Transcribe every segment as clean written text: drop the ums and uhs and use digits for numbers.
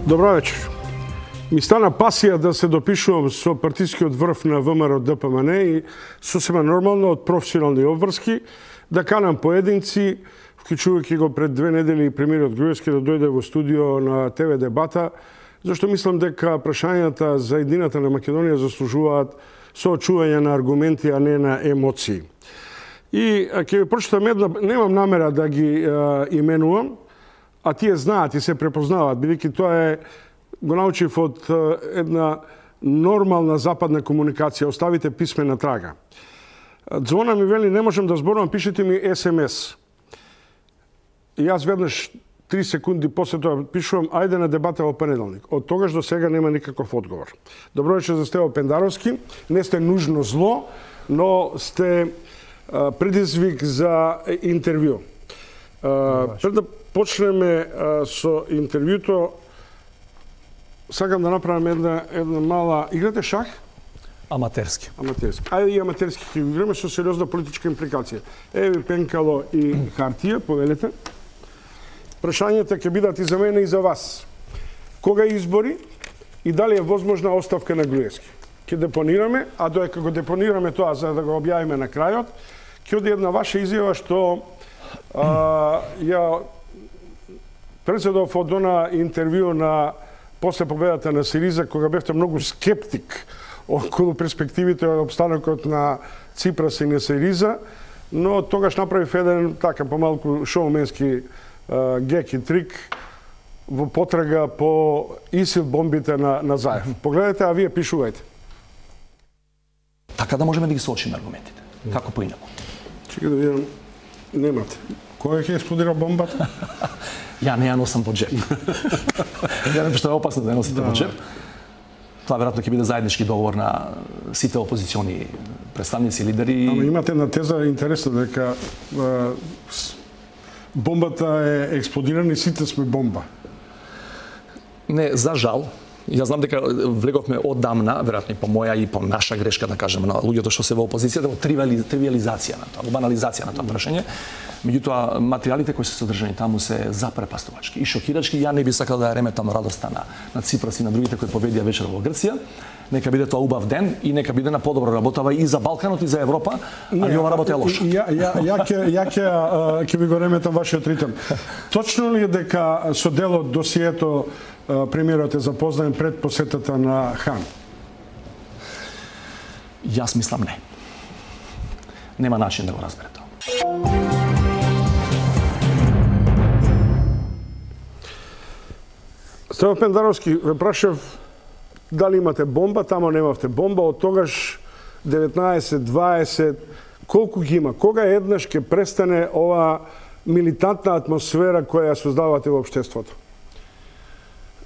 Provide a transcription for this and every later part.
Добро вечер. Ми стана пасија да се допишувам со партискиот врв на ВМРО ДПМН и сосема нормално од професионални обврски да канам поединци, вклучувајќи го пред 2 недели премиерот Груевски да дојде во студио на ТВ дебата, зашто мислам дека прашањата за едината на Македонија заслужуваат соочување на аргументи, а не на емоции. И ќе ви прочитам една, немам намера да ги именувам, а тие знаат и се препознаваат, бидејќи тоа е го научив од една нормална западна комуникација, оставите писмена трага. Звона ми вели, не можам да зборувам, пишете ми СМС. И јас веднаш 3 секунди после тоа пишувам, ајде на дебата во понеделник. Од тогаш до сега нема никаков одговор. Добро вечер за Стево Пендаровски. Не сте нужно зло, но сте предизвик за интервју. Пред да почнеме со интервјуто, сакам да направам една мала... Играте шах? Аматерски. Аматерски. Ајде и аматерски ќе го играме со сериозна политичка импликација. Еви пенкало и хартија, повелете. Прашањата ќе бидат и за мене и за вас. Кога избори и дали е возможна оставка на Груевски? Ќе депонираме, а додека го депонираме тоа за да го објавиме на крајот, ќе оди една ваша изјава што ја председов од она интервју на после победата на Сириза, кога бевте многу скептик околу перспективите од обстанокот на Ципрас и на Сириза, но тогаш направив еден така помалку шоуменски гек и трик во потрага по ИСИЛ бомбите на Заев. Погледнете, а вие пишувајте. Така да можеме да ги соочиме аргументите. Како поинаку? Чекај да видам. Немате. Кој ќе експлодира бомбата? Ја не ја носам во джеп. Ја не, што е опасно да ја носите во джеп. Тоа веројатно ќе биде заеднички договор на сите опозициони представници, лидери. Ама имате една теза интересна дека бомбата е експлодирана и сите сме бомба. Не, за жал. Ја знам дека влеговме оддамна, веројатно и по моја и по наша грешка, да кажеме, на луѓето што се во опозицијата, во тривиализација на тоа, во банализација на тоа прашање. Меѓутоа, материјалите кои се содржани таму се запрепастувачки и шокирачки. Ја не би сакал да ја реметам радоста на Ципрас и на другите кои победија вечер во Грција. Нека биде тоа убав ден и нека биде на подобро работава и за Балканот и за Европа, а не ова работа е лоша. Ја ќе ви го реметам вашиот ритм. Точно ли е дека со делот досието премиерот е запознаен пред посетата на Хан? Јас мислам не. Нема начин да го разбере тоа. Стево Пендаровски, ве прашав дали имате бомба, тамо немавте бомба, од тогаш 19, 20, колку ги има? Кога еднаш ќе престане ова милитантна атмосфера која ја создавате во општеството?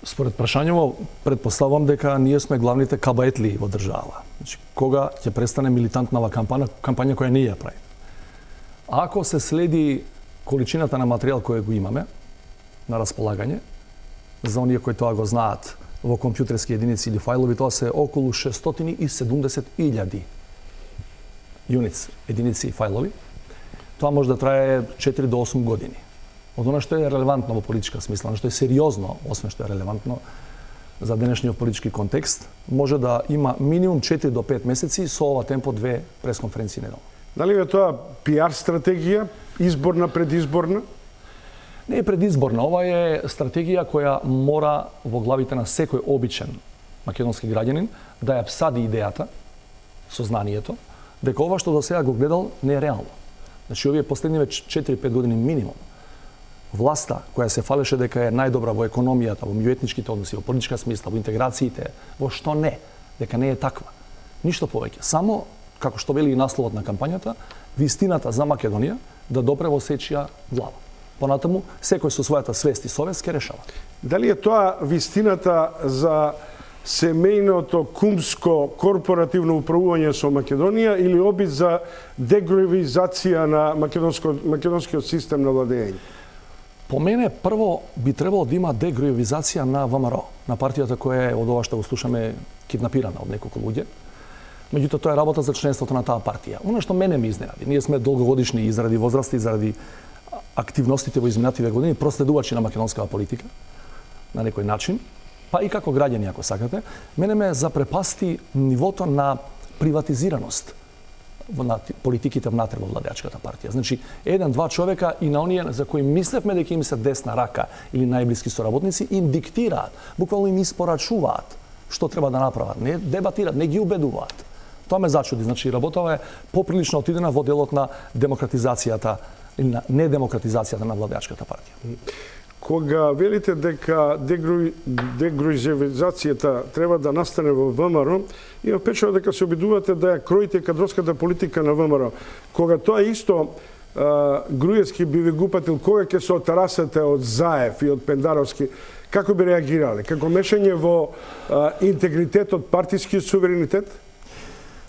Според прашањето, предпоставувам дека ние сме главните кабаетли во држава. Значи, кога ќе престане милитантнава кампања која ние ја прави? Ако се следи количината на материјал кој го имаме на располагање, за оние кои тоа го знаат во компјутерски единици или фајлови, тоа се околу 670.000 юнитс, единици и фајлови. Тоа може да трае 4 до 8 години. Од она што е релевантно во политичка смисла, што е сериозно, освен што е релевантно за денешниот политички контекст, може да има минимум 4 до 5 месеци со ова темпо 2 пресконференции неделно. Дали е тоа пиар стратегија, изборна, предизборна? Не е предизборна, ова е стратегија која мора во главите на секој обичен македонски граѓанин да ја всади идејата, сознанието, дека ова што до сега го гледал не е реално. Значи, овие последниве 4-5 години минимум, власта која се фалеше дека е најдобра во економијата, во меѓуетничките односи, во политичка смисла, во интеграциите, во што не, дека не е таква. Ништо повеќе. Само, како што вели и насловот на кампањата, вистината за Македонија да допре во сечија глава. Понатаму, секој со својата свест и совест ке решава. Дали е тоа вистината за семејното, кумско, корпоративно управување со Македонија или обид за дегруевизација на македонскиот систем на владење? По мене, прво би требало да има дегруевизација на ВМРО, на партијата која е од ова што го слушаме киднапирана од неколку луѓе. Меѓутоа, тоа е работа за членството на таа партија. Оно што мене ми изненади, ние сме долгогодишни и заради возраста и заради активностите во изминативе години проследувачи на македонската политика на некој начин. па и како граѓани, ако сакате, мене ме запрепасти нивото на приватизираност на политиките внатре во владеачката партија. Значи, еден-два човека и на оние за кои мислевме дека им се десна рака или најблиски соработници, им диктираат, буквално им испорачуваат што треба да направат, не дебатираат, не ги убедуваат. Тоа ме зачуди. Значи, работава е поприлично отидена во делот на демократизацијата или на недемократизацијата на владеачката партија. Кога велите дека дегруизацијата треба да настане во ВМРО, има впечаток дека се обидувате да ја кроите кадровската политика на ВМРО. Кога тоа исто Груевски би ви гупатил, кога ќе се отарасате од Заев и од Пендаровски, како би реагирале? Како мешање во интегритетот, партиски суверенитет?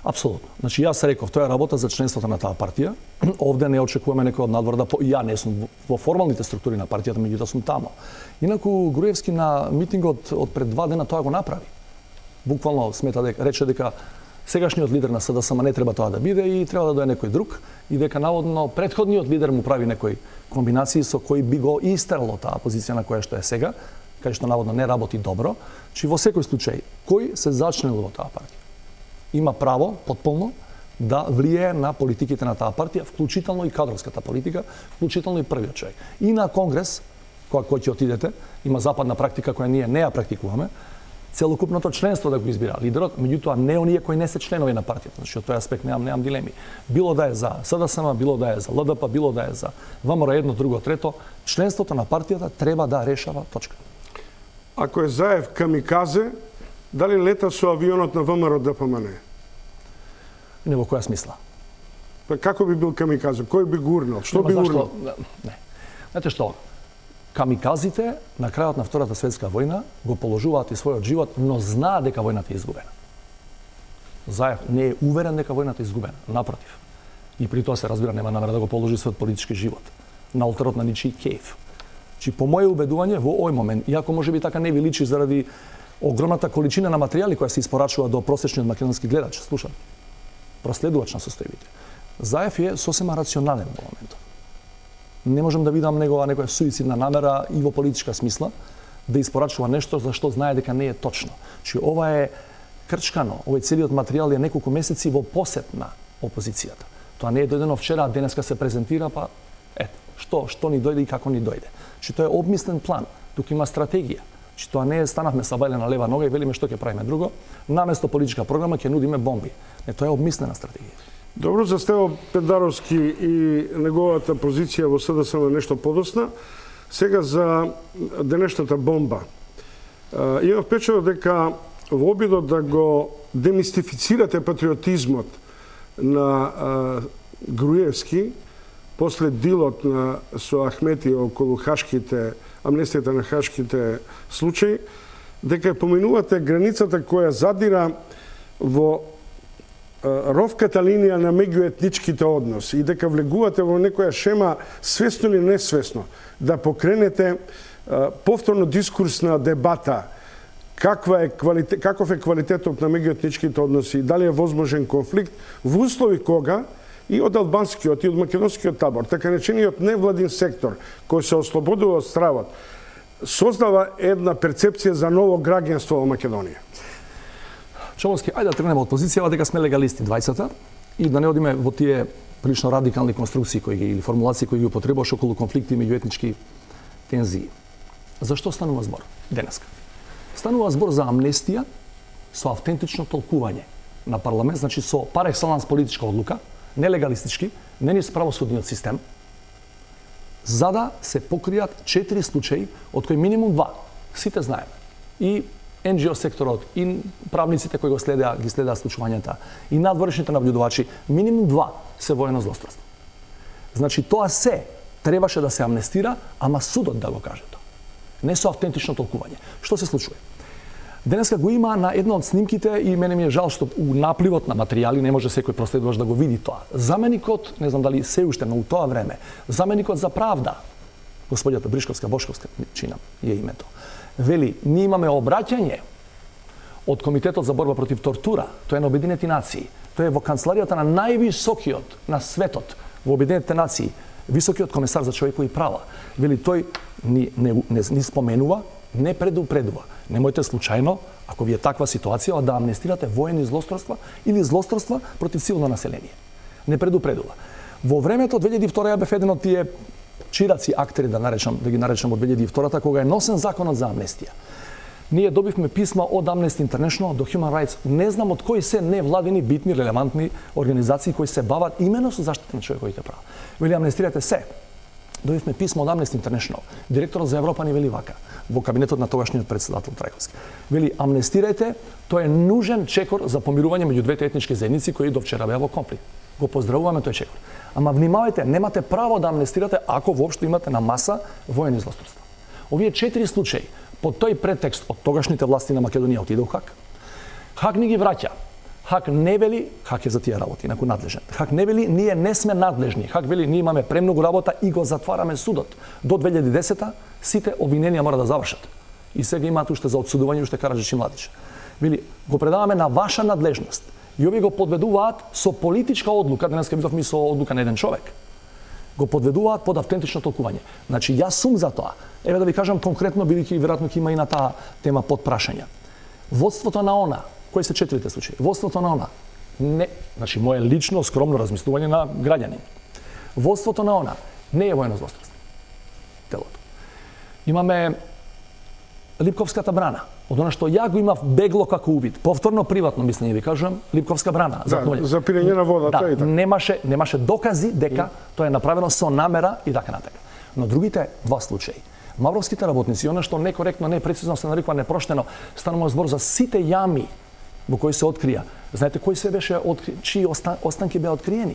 Апсолутно. Значи, јас реков, тоа е работа за членството на таа партија. Овде не очекуваме некој од надвор да ја не сум во формалните структури на партијата, меѓутоа сум тамо. Инаку Груевски на митингот од пред 2 дена тоа го направи. Буквално рече дека сегашниот лидер на СДСМ не треба тоа да биде и треба да дое некој друг и дека наводно претходниот лидер му прави некои комбинации со кои би го истерало таа позиција на која што е сега, кај што наводно не работи добро, че во секој случај кој се зачленил во таа партија има право потполно да влијае на политиките на таа партија, вклучително и кадровската политика, вклучително и првиот човек. И на конгрес, кој ќе отидете, има западна практика која ние не ја практикуваме, целокупното членство да го избира лидерот, меѓутоа не оние кои не се членови на партијата. Значи, од тој аспект немам дилеми. Било да е за СДСМ, било да е за ЛДП, било да е за ВМРО едно, друго, трето, членството на партијата треба да решава точка. Ако е Заев камиказе, дали лета со авионот на ВМРО ДПМН? Не во која смисла? Па како би бил камиказе? Кој би гурнал? Што би гурнал? Не. Знаете што? Камиказите на крајот на Втората светска војна го положуваат и својот живот, но знаат дека војната е изгубена. Заев не е уверен дека војната е изгубена, напротив. И при тоа се разбира нема намера да го положи својот политички живот на олтарот на ничи кејф. Чи по моје убедување во овој момент, иако можеби така не ви личи заради огромната количина на материјали која се испорачува до просечниот македонски гледач, слушам, проследувач на состојбите. Заев е сосема рационален во моментот. Не можам да видам негова некоја суицидна намера и во политичка смисла да испорачува нешто за што знае дека не е точно. Чи ова е крчкано, овој целиот материјал е неколку месеци во посет на опозицијата. Тоа не е дојдено вчера, а денеска се презентира, па ето, што ни дојде и како ни дојде. Чи тоа е обмислен план, тука има стратегија. Чи тоа не е станавме са бајле на лева нога и велиме што ќе правиме друго, наместо политичка програма ќе нудиме бомби. Не, тоа е обмислена стратегија. Добро, за Стево Пендаровски и неговата позиција во СДСМ нешто подосна. Сега за денешната бомба. Имам впечаток дека во обидот да го демистифицирате патриотизмот на Груевски, после дилот со Ахмети околу хашките, амнестијата на хашките случаи, дека поминувате границата која задира во ровката линија на меѓуетничките односи и дека влегувате во некоја шема свесно или несвесно да покренете повторно дискурсна дебата каков е квалитетот на меѓуетничките односи и дали е возможен конфликт во услови кога и од албанскиот и од македонскиот табор, така речениот невладин сектор кој се ослободува од стравот, создава една перцепција за ново граѓанство во Македонија. Човоски, ајде да тргнеме од позицијава дека сме легалисти двајцата и да не одиме во тие прилично радикални конструкции или формулации кои ги употребуваш околу конфликти меѓу етнички тензии. Зашто станува збор денеска? Станува збор за амнестија со автентично толкување на парламент, значи со пар екселанс политичка одлука, нелегалистички, не низ правосудниот систем, за да се покријат 4 случаи, од кои минимум 2, сите знаеме. И NGO секторот, и правниците кои ги следеа случувањата, и надворешните наблюдувачи, минимум 2 се воено злосторство. Значи, тоа се требаше да се амнестира, ама судот да го каже тоа. Не со автентично толкување. Што се случува? Денеска го има на една од снимките и мене ми е жал што у напливот на материјали не може секој проследуваш да го види тоа. Заменикот, не знам дали се уште, но у тоа време, заменикот за правда, господјата Бришковска-Бошковска, чинам е името, вели, ние имаме обраќање од Комитетот за борба против тортура, тоа е на Обединети нации, тоа е во канцеларијата на највисокиот на светот во Обединетите нации, високиот комесар за човекови права. Вели, тој ни споменува, не предупредува. Немојте случајно, ако ви е таква ситуација, да амнестирате воени злосторства или злосторства против цивилно население. Не предупредува. Во времето 2002 ја бев еден од тие чираци актери, да ги наречам од 2002-та, кога е носен законот за амнестија. Ние добивме писма од Amnesty International до Human Rights. Не знам од кои се невладини, битни, релевантни организации кои се бават именно со заштита на човековите права. Вели амнестирате се. Добивме писмо од Amnesty International. Директорот за Европа ни вели вака, во кабинетот на тогашниот председател Трајковски. Вели амнестирајте, тоа е нужен чекор за помирување меѓу двете етнички заедници кои до вчера беа во конфликт. Го поздравуваме тој чекор. Ама внимавајте, немате право да амнестирате ако воопшто имате на маса воени злосторства. Овие 4 случаи под тој претекст од тогашните власти на Македонија отиде у ХАК. ХАК ни ги враќа. ХАК не вели, ХАК е за тие работи, инаку надлежен. ХАК не вели, ние не сме надлежни. ХАК вели, ние имаме премногу работа и го затвараме судот. До 2010-та сите обвиненија мора да завршат. И сега имаат уште за одсудување уште Караджич и Младич. Вели, го предаваме на ваша надлежност. И овие го подведуваат со политичка одлука, денеска видовме со одлука на еден човек. Го подведуваат под автентично толкување. Значи, јас сум за тоа. Еве да ви кажам конкретно, бидејќи веројатно ќе има и на таа тема под прашања. Водството на ОНА, кои се 4 случаи? Водството на ОНА, не, значи моje лично скромно размислување на граѓанин. Водството на ОНА не е воено злосторство. Телото. Имаме Липковската брана. Од она што ја го имав бегло како увид, повторно приватно мислење ви кажувам, Липковска брана. Да, за пирење на водата да, и така. Немаше докази дека тоа е направено со намера и така натака. Но другите два случаи, мавровските работници, она што некоректно, непрецизно се нарекува непроштено, станува збор за сите јами во кои се открија. Знаете кои се беше чии останки беа откриени?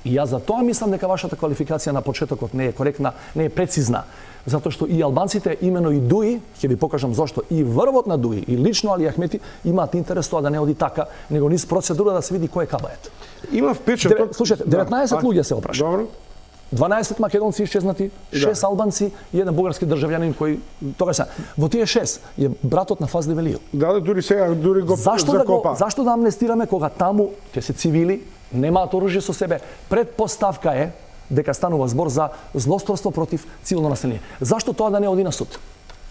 И јас за тоа мислам дека вашата квалификација на почетокот не е коректна, не е прецизна. Затоа што и албанците, имено и ДУИ, ќе ви покажам зошто, и врвот на ДУИ, и лично Али Ахмети, имаат интерес тоа да не оди така, него низ процедура да се види кој е кабает. Има впечаток... Слушайте, 19 луѓе се опрашани. Добро. 12 македонци исчезнати, 6 албанци и еден бугарски државјанин кој тогаш во тие 6 е братот на Фазли Велију. Да, дури сега го закопа. Зашто да амнестираме кога таму ќе се цивили, немаат оружје со себе? Предпоставка е дека станува збор за злосторство против цивилно население. Зашто тоа да не оди на суд?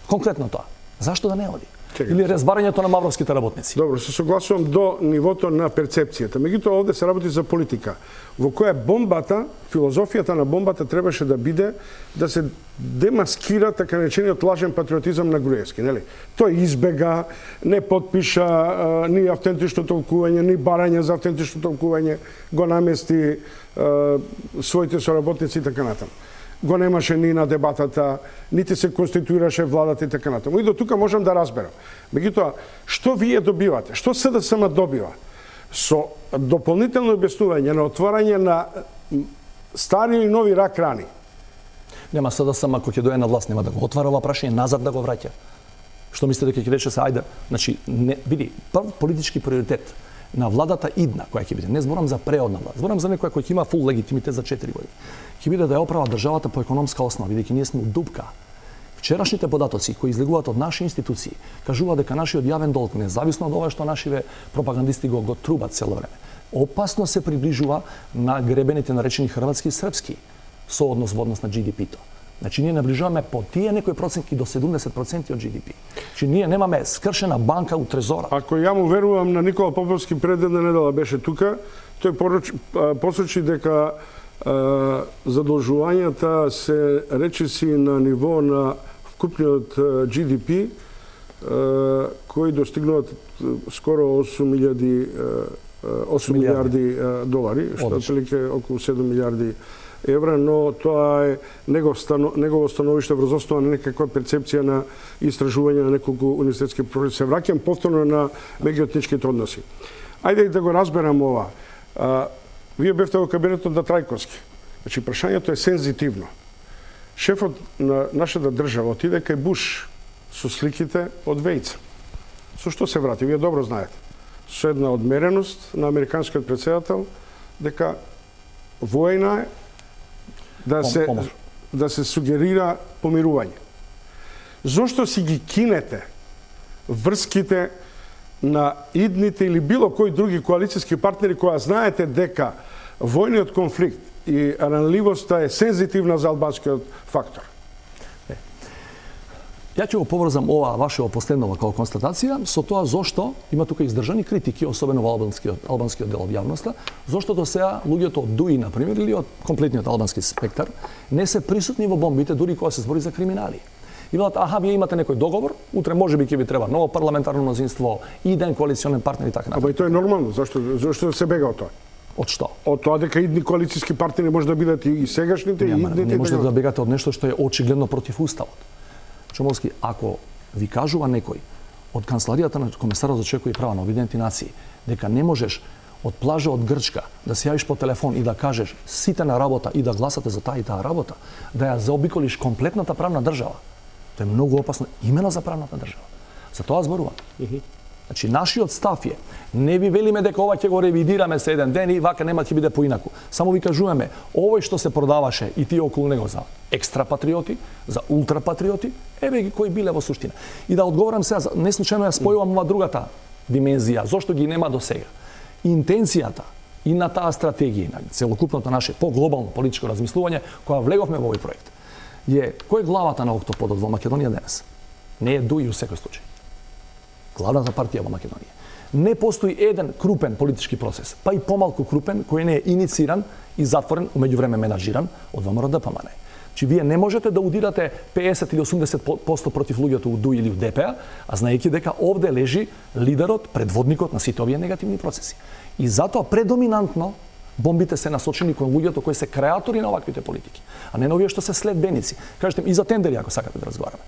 Конкретно тоа. Зашто да не оди? Или разбарањето на мавровските работници. Добро, се согласувам до нивото на перцепцијата. Меѓутоа овде се работи за политика, во која бомбата, филозофијата на бомбата требаше да биде да се демаскира така наречениот лажен патриотизам на Груевски, нели? Тој избега, не потпиша ни автентично толкување, ни барање за автентично толкување, го намести своите соработници и така натаму. Го немаше ни на дебатата, нити се конституираше владата и така натаму. И до тука можам да разберам. Меѓутоа, што вие добивате? Што СДСМ добива? Со дополнително објаснување на отварање на стари и нови рак рани. Нема СДСМ ако ќе дое на власт, нема да го отвара ова прашање, назад да го враќа. Што мислите дека ќе рече се ајде? Значи, види, прв политички приоритет на владата идна, која ќе биде, не зборам за преодна власт, зборам за некоја која ќе има фул легитимитет за 4 години. Ќе биде да ја оправа државата по економска основа, бидејќи ние сме у дупка. Вчерашните податоци кои излегуваат од наши институции кажуваат дека нашиот јавен долг, независно од ова што нашиве пропагандисти го трубат цело време, опасно се приближува на гребените наречени хрватски и српски сооднос во однос на GDP-то. Значи, ние наближуваме по тие некои проценти до 70% од GDP. Значи, ние немаме скршена банка у трезора. Ако ја му верувам на Никола Поповски пред една недела беше тука, тој посочи дека задолжувањата се речиси на ниво на вкупниот GDP, кои достигнуваат скоро 8 милиарди долари, што отприлike околу 7 милиарди евра, но тоа е негово становиште врз основа на некаква перцепција на истражување на неколку универзитетски професори. Се враќам повторно на меѓуетничките односи. Ајде да го разберам ова. Вие бевте во кабинетот на Трајковски. Значи, прашањето е сензитивно. Шефот на нашата држава отиде кај Буш со сликите од Вејца. Со што се врати? Вие добро знаете. Со една одмереност на американскиот претседател дека војна е да се сугерира помирување. Зошто си ги кинете врските на идните или било кои други коалицијски партнери која знаете дека војниот конфликт и ранливоста е сензитивна за албанскиот фактор? Ја ќе го поврзам ова вашето последнова како констатација со тоа зошто има тука издржани критики, особено во албанскиот дел од јавноста, зошто до сега луѓето од ДУИ, на пример, или од комплетниот албански спектар, не се присутни во бомбите дури кога се збори за криминали. И велат, аха, вие имате некој договор, утре можеби ќе ви треба ново парламентарно мнозинство, иден коалиционен партнер и така натаму. Ама и тоа е нормално, зашто се бега од тоа? Од што? Од тоа дека идни коалициски партнери може да бидат и сегашните, и идните. Не можете да бегате од нешто што е очигледно против уставот. Чомовски, ако ви кажува некој од канцеларијата на комесарот за човекови права на Обединените нации дека не можеш од плажа од Грчка да се јавиш по телефон и да кажеш сите на работа и да гласате за таа и таа работа, да ја заобиколиш комплетната правна држава, тоа е многу опасно имено за правната држава. За тоа зборувам. Значи, нашиот став е, не ви велиме дека ова ќе го ревидираме се еден ден и вака нема ќе биде поинаку. Само ви кажуваме, овој што се продаваше и тие околу него за екстра патриоти, за ултра патриоти, еве ги кои биле во суштина. И да одговорам сега, не случајно ја спојувам ова другата димензија, зошто ги нема до сега. Интенцијата и на таа стратегија, на целокупното наше по-глобално политичко размислување, кога влеговме во овој проект, е кој е главата на октоподот во Македонија денес? Не е ДУИ у секој случај. Главната партија во Македонија. Не постои еден крупен политички процес, па и помалку крупен, кој не е инициран и затворен, умеѓувреме менаџиран од ВМРО ДПМН. Чи вие не можете да удирате 50 или 80% против луѓето у ДУИ или у ДПА, а знаејќи дека овде лежи лидерот, предводникот на сите овие негативни процеси. И затоа предоминантно бомбите се насочени кон луѓето кои се креатори на оваквите политики, а не на овие што се следбеници. Кажете и за тендери ако сакате да разговараме.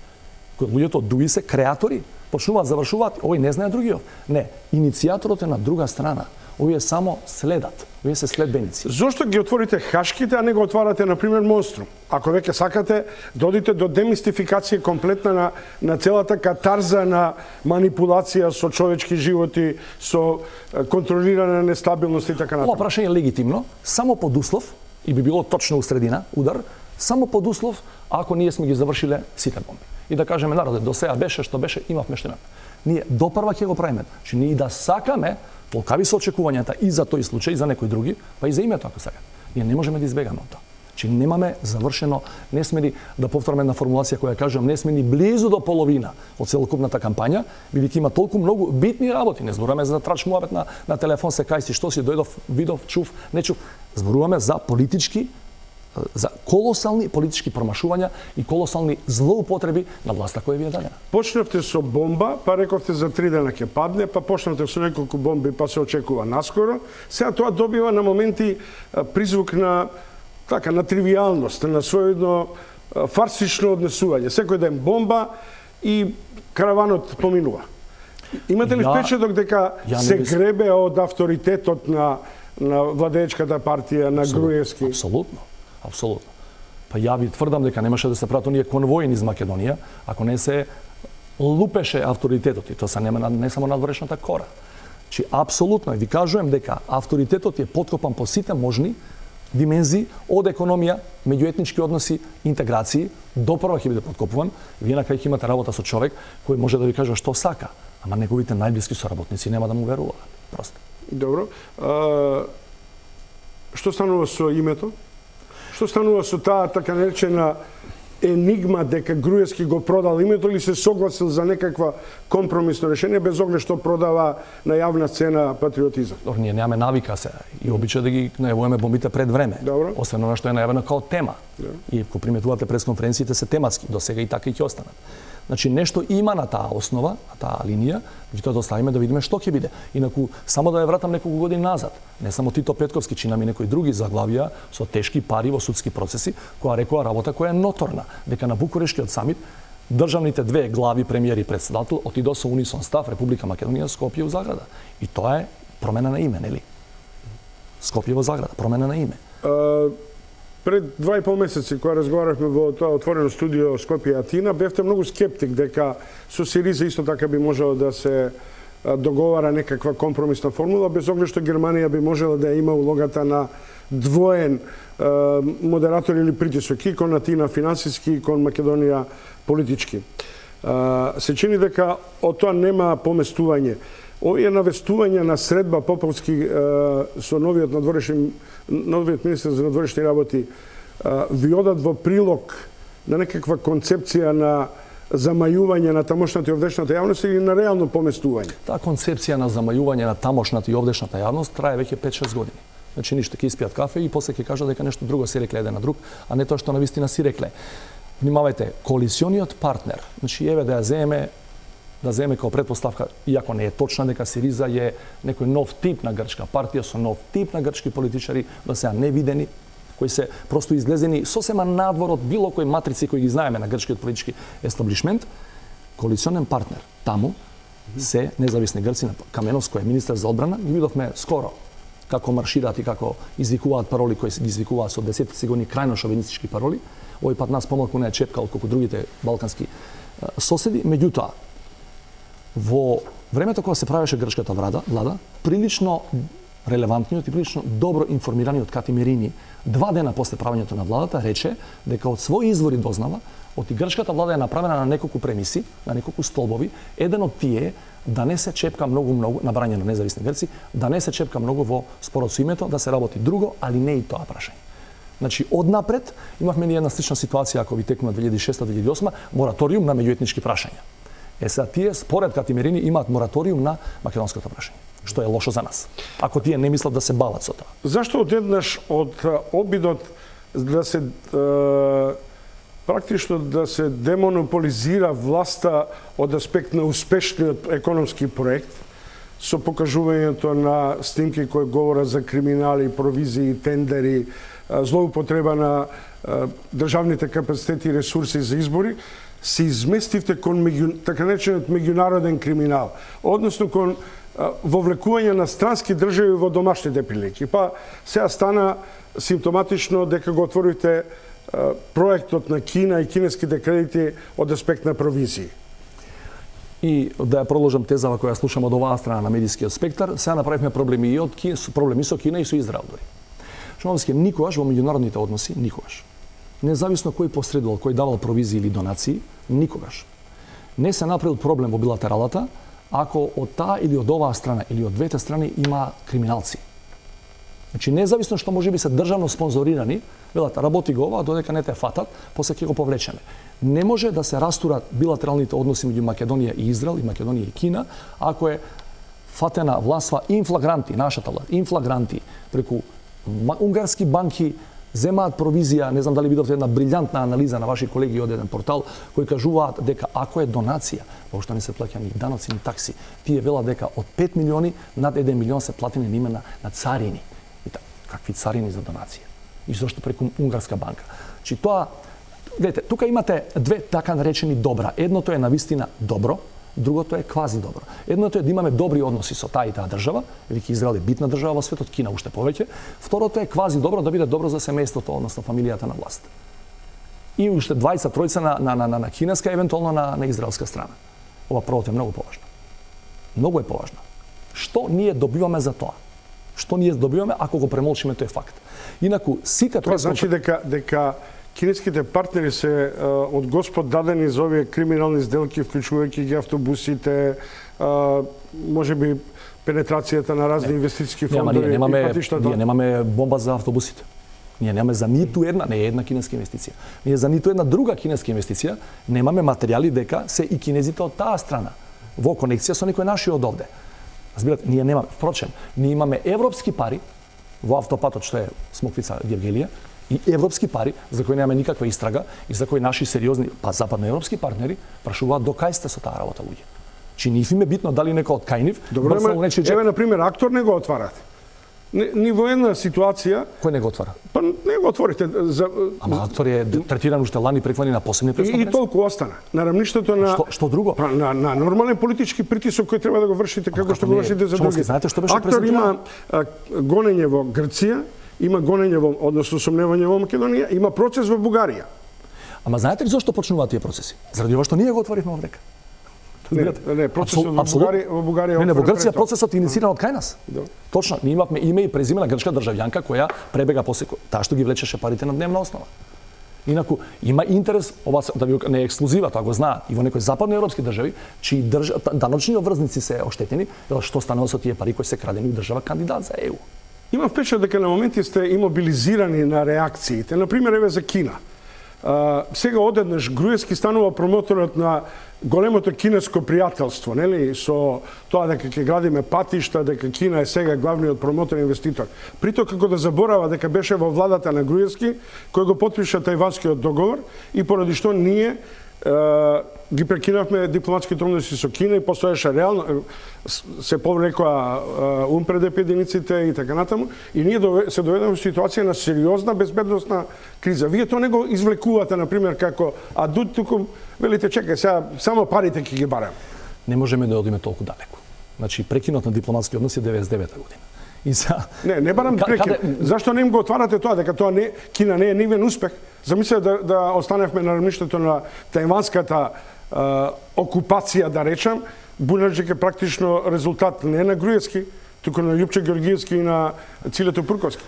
Кои луѓето од ДУИ се креатори, почнуваат, завршуваат, овој не знае другиот. Не, иницијаторот е на друга страна. Овие само следат, овие се следбеници. Зошто ги отворите Хашките, а не го отварате, например, Монструм? Ако веќе сакате, додите до демистификација комплетна на целата катарза на манипулација со човечки животи, со контролирана нестабилност и така натаму. Ова прашање е легитимно, само под услов, и би било точно у средина, удар, само под услов, ако ние сме ги завршиле сите бомби. И да кажеме народе, до сега беше што беше, имавме што имаме. Ние допрва ќе го правиме. Че ние да сакаме, толкави се очекувањата и за тој случај, и за некои други, па и за името ако сакате. Ние не можеме да избегаме од тоа. Че немаме завршено, не сме ни, да повторам една формулација која кажам, не сме ни близу до половина од целокупната кампања, бидејќи има толку многу битни работи. Не зборуваме за трач муабет на телефон, се кај си, што си, дојдов, видов, чув, не чув. Зборуваме за политички, за колосални политички промашувања и колосални злоупотреби на власта која ви е дадена. Почнавте со бомба, па рековте за 3 дена ќе падне, па почнавте со неколку бомби, па се очекува наскоро. Сега тоа добива на моменти призвук на на тривијалност, на своједно фарсично однесување. Секој ден бомба и караванот поминува. Имате ли впечаток дека се гребе од авторитетот на владеечката партија, на Груевски? Апсолутно. Апсолутно. Па ја ви тврдам дека немаше да се прават оние конвои низ Македонија, ако не се лупеше авторитетот, и тоа се не само надворешната кора. Чи апсолутно ви кажувам дека авторитетот е подкопан по сите можни димензии од економија, меѓуетнички односи, интеграции, допрва ќе биде подкопуван. Вие на крај ќе имате работа со човек кој може да ви каже што сака, ама неговите најблиски соработници нема да му веруваат. Просто. Добро. Што станува со името? Што станува со таа така наречена енигма дека Груевски го продал името или се согласил за некаква компромисно решение без оглед што продава на јавна сцена патриотизам? Ние немаме навика се и обича да ги најавуваме бомбите пред време. Добро. Освен она што е најавено као тема. Добро. И ако приметувате пресконференциите се тематски, до сега и така и ќе останат. Значи нешто има на таа основа, на таа линија, ги тоа доставиме да видиме што ќе биде. Инаку само да ја вратам неколку години назад, не само Тито Петковски, чинами некои други заглавија со тешки пари во судски процеси, која рекоа работа која е ноторна, дека на Букурешткиот самит државните две глави, премиер и претседател, отидоа со унисон став Република Македонија, Скопје у Заграда. И тоа е промена на име, нели? Скопје во Заграда, промена на име. Пред 2,5 месеци, кога разговаравме во тоа отворено студио Скопје и Атина, бевте многу скептик дека со Сириза исто така би можело да се договара некаква компромисна формула, без оглед што Германија би можела да има улогата на двоен модератор или притисок и кон Атина финансиски и кон Македонија политички. Се чини дека од тоа нема поместување. Овие навестувања на средба Поповски со новиот министер за надворешни работи ви одат во прилог на некаква концепција на замајување на тамошната и овдешната јавност или на реално поместување? Таа концепција на замајување на тамошната и овдешната јавност трае веќе 5-6 години. Значи ништо, ќе испијат кафе и после ќе кажат дека нешто друго се рекле еден на друг, а не тоа што навистина си рекле. Внимавајте, коалициониот партнер, значи еве да земе како претпоставка, иако не е точна дека Сириза е некој нов тип на грчка партија со нов тип на грчки политичари, да се невидени, кои се просто излезени сосема надвор од било кој матрици кои ги знаеме на грчкиот политички естаблишмент, коалиционен партнер таму се независни грци. На Каменовски кој е министер за одбрана, ги видовме скоро како маршираат и како извикуваат пароли кои ги извикуваат со десетици години крајно шовинистички пароли. Овој пат нас помалку не е чепка отколку другите балкански соседи. Меѓутоа, во времето кога се правеше грчката влада, прилично релевантниот и прилично добро информираниот Кати Мерини 2 дена после правењето на владата рече дека од своји извори дознава оти грчката влада е направена на неколку премиси, на неколку столбови. Еден од тие да не се чепка многу на брање на независни грци, да не се чепка многу во спорот со името, да се работи друго, али не и тоа прашање. Значи, однапред имавме ни една слична ситуација, ако ви текнува 2006-2008, мораториум на меѓуетнички прашања. Сега тие, според Кати Мерини, имаат мораториум на македонското прашање, што е лошо за нас, ако тие не мислат да се бават со тоа. Зашто одеднаш од обидот да се практично да се демонополизира власта од аспект на успешниот економски проект, со покажувањето на снимки кои говорат за криминали, провизии, тендери, злоупотреба на државните капацитети и ресурси за избори, се изместивте кон така наречениот меѓународен криминал, односно кон вовлекување на странски држави во домашните прилики. Па сега стана симптоматично дека го отворите проектот на Кина и кинеските кредити од аспект на провизии. И да ја продолжам тезава која слушам од оваа страна на медискиот спектар, сега направивме проблеми и од проблеми со Кина и со Израел дури. Шумовски, никогаш во меѓународните односи, никогаш, независно кој посредувал, кој давал провизии или донации, никогаш не се направил проблем во билатералата ако од таа или од оваа страна или од двете страни има криминалци. Значи, независно што може би се државно спонзорирани, велат, работи го ова, додека не те фатат, после ќе го повлечеме. Не може да се растурат билатералните односи меѓу Македонија и Израел и Македонија и Кина, ако е фатена властва инфлагранти, нашата власт, инфлагранти, преку унгарски банки земаат провизија. Не знам дали видовте една брилјантна анализа на ваши колеги од еден портал кои кажуваат дека ако е донација, воопшто не се плаќа ни даноци ни такси, тие велат дека од 5 милиони над 1 милион се платени на име на царини. И какви царини за донација? И зошто преку унгарска банка? Чи тоа, гледате, тука имате две така наречени добра. Едното е навистина добро, другото е квази добро. Едното е да имаме добри односи со таа и таа држава, веќе Израел е битна држава во светот, Кина уште повеќе. Второто е квази добро, да биде добро за семејството, односно фамилијата на власт. И уште 20-тројца на кинеска, евентуално на израелска страна. Ова првото е многу поважно. Многу е поважно. Што ние добиваме за тоа? Што ние добиваме ако го премолчиме тој факт? Инаку сите тоа значи дека кинеските партнери се од Господ дадени за овие криминални сделки, вклучувајќи ги автобусите, може би пенетрацијата на разни инвестициски фондови и патиштата. Ние немаме бомба за автобусите. Ние немаме за ниту една, не една кинеска инвестиција. Ние за ниту една друга кинеска инвестиција немаме материјали дека се и кинезите од таа страна во конекција со некој наши од овде. Разбирате, ние немаме. Впрочем, ние имаме европски пари во автопатот што е Смоквица Гевгелија, и европски пари за кои немаме никаква истрага и за кои наши сериозни западноевропски партнери прашуваат до кај сте со таа работа луѓе. Чи нив им е битно дали некој од кај нив. Добро, еве на пример актор не го отварате. Ни во една ситуација кој не го отвара? Па не го отворите за Ама актор е третиран уште лани преклани на посебни престапници. И толку остана на рамништето на што друго? Па на нормален политички притисок кој треба да го вршите како што го вршите за други. Знаете што беше актор има гонење во Грција, има гонење во, односно сомневање во Македонија, има процес во Бугарија. Ама знаете ли зошто почнуваат тие процеси? Заради ова што ние го отворивме овдека. Не, процесот во Бугарија. Не, во Грција процесот е иницииран од кај нас. Да. Точно, ние имавме име и презиме на грчка државјанка која пребега после таа што ги влечеше парите на дневна основа. Инаку има интерес, ова да ви не е ексклузива, тоа го знаат и во некои западноевропски држави, чии даночни обврзници се оштетени, што станува со тие пари кои се крадени од држава кандидат за ЕУ. Има впечат дека на моменти сте имобилизирани на реакциите. Например, еве за Кина. Сега одеднаш Груевски станува промоторот на големото кинеско пријателство, нели, со тоа дека ќе градиме патишта, дека Кина е сега главниот промотор и инвеститор. Прито како да заборава дека беше во владата на Груевски, кој го потпиша Тајванскиот договор и поради што ние ги прекинавме дипломатските односи со Кина и постоеше реално се повлекоа УНПРДП единиците и така натаму и ние се доведеме во ситуација на сериозна безбедносна криза. Вие тоа не го извлекувате на пример како адут, туку велите чекај сега само парите ќе ги барам. Не можеме да одиме толку далеку. Значи прекинот на дипломатски односи 99-та година. И за Не барам прекин. Зашто не им го отварате тоа дека тоа не Кина не е нивен успех? Замислете да останевме на рамништето на тајванската окупација, да речам, Бујнарџик е практично резултат не на Груевски, туку на Љупче Георгиевски и на Цилето Пурковски.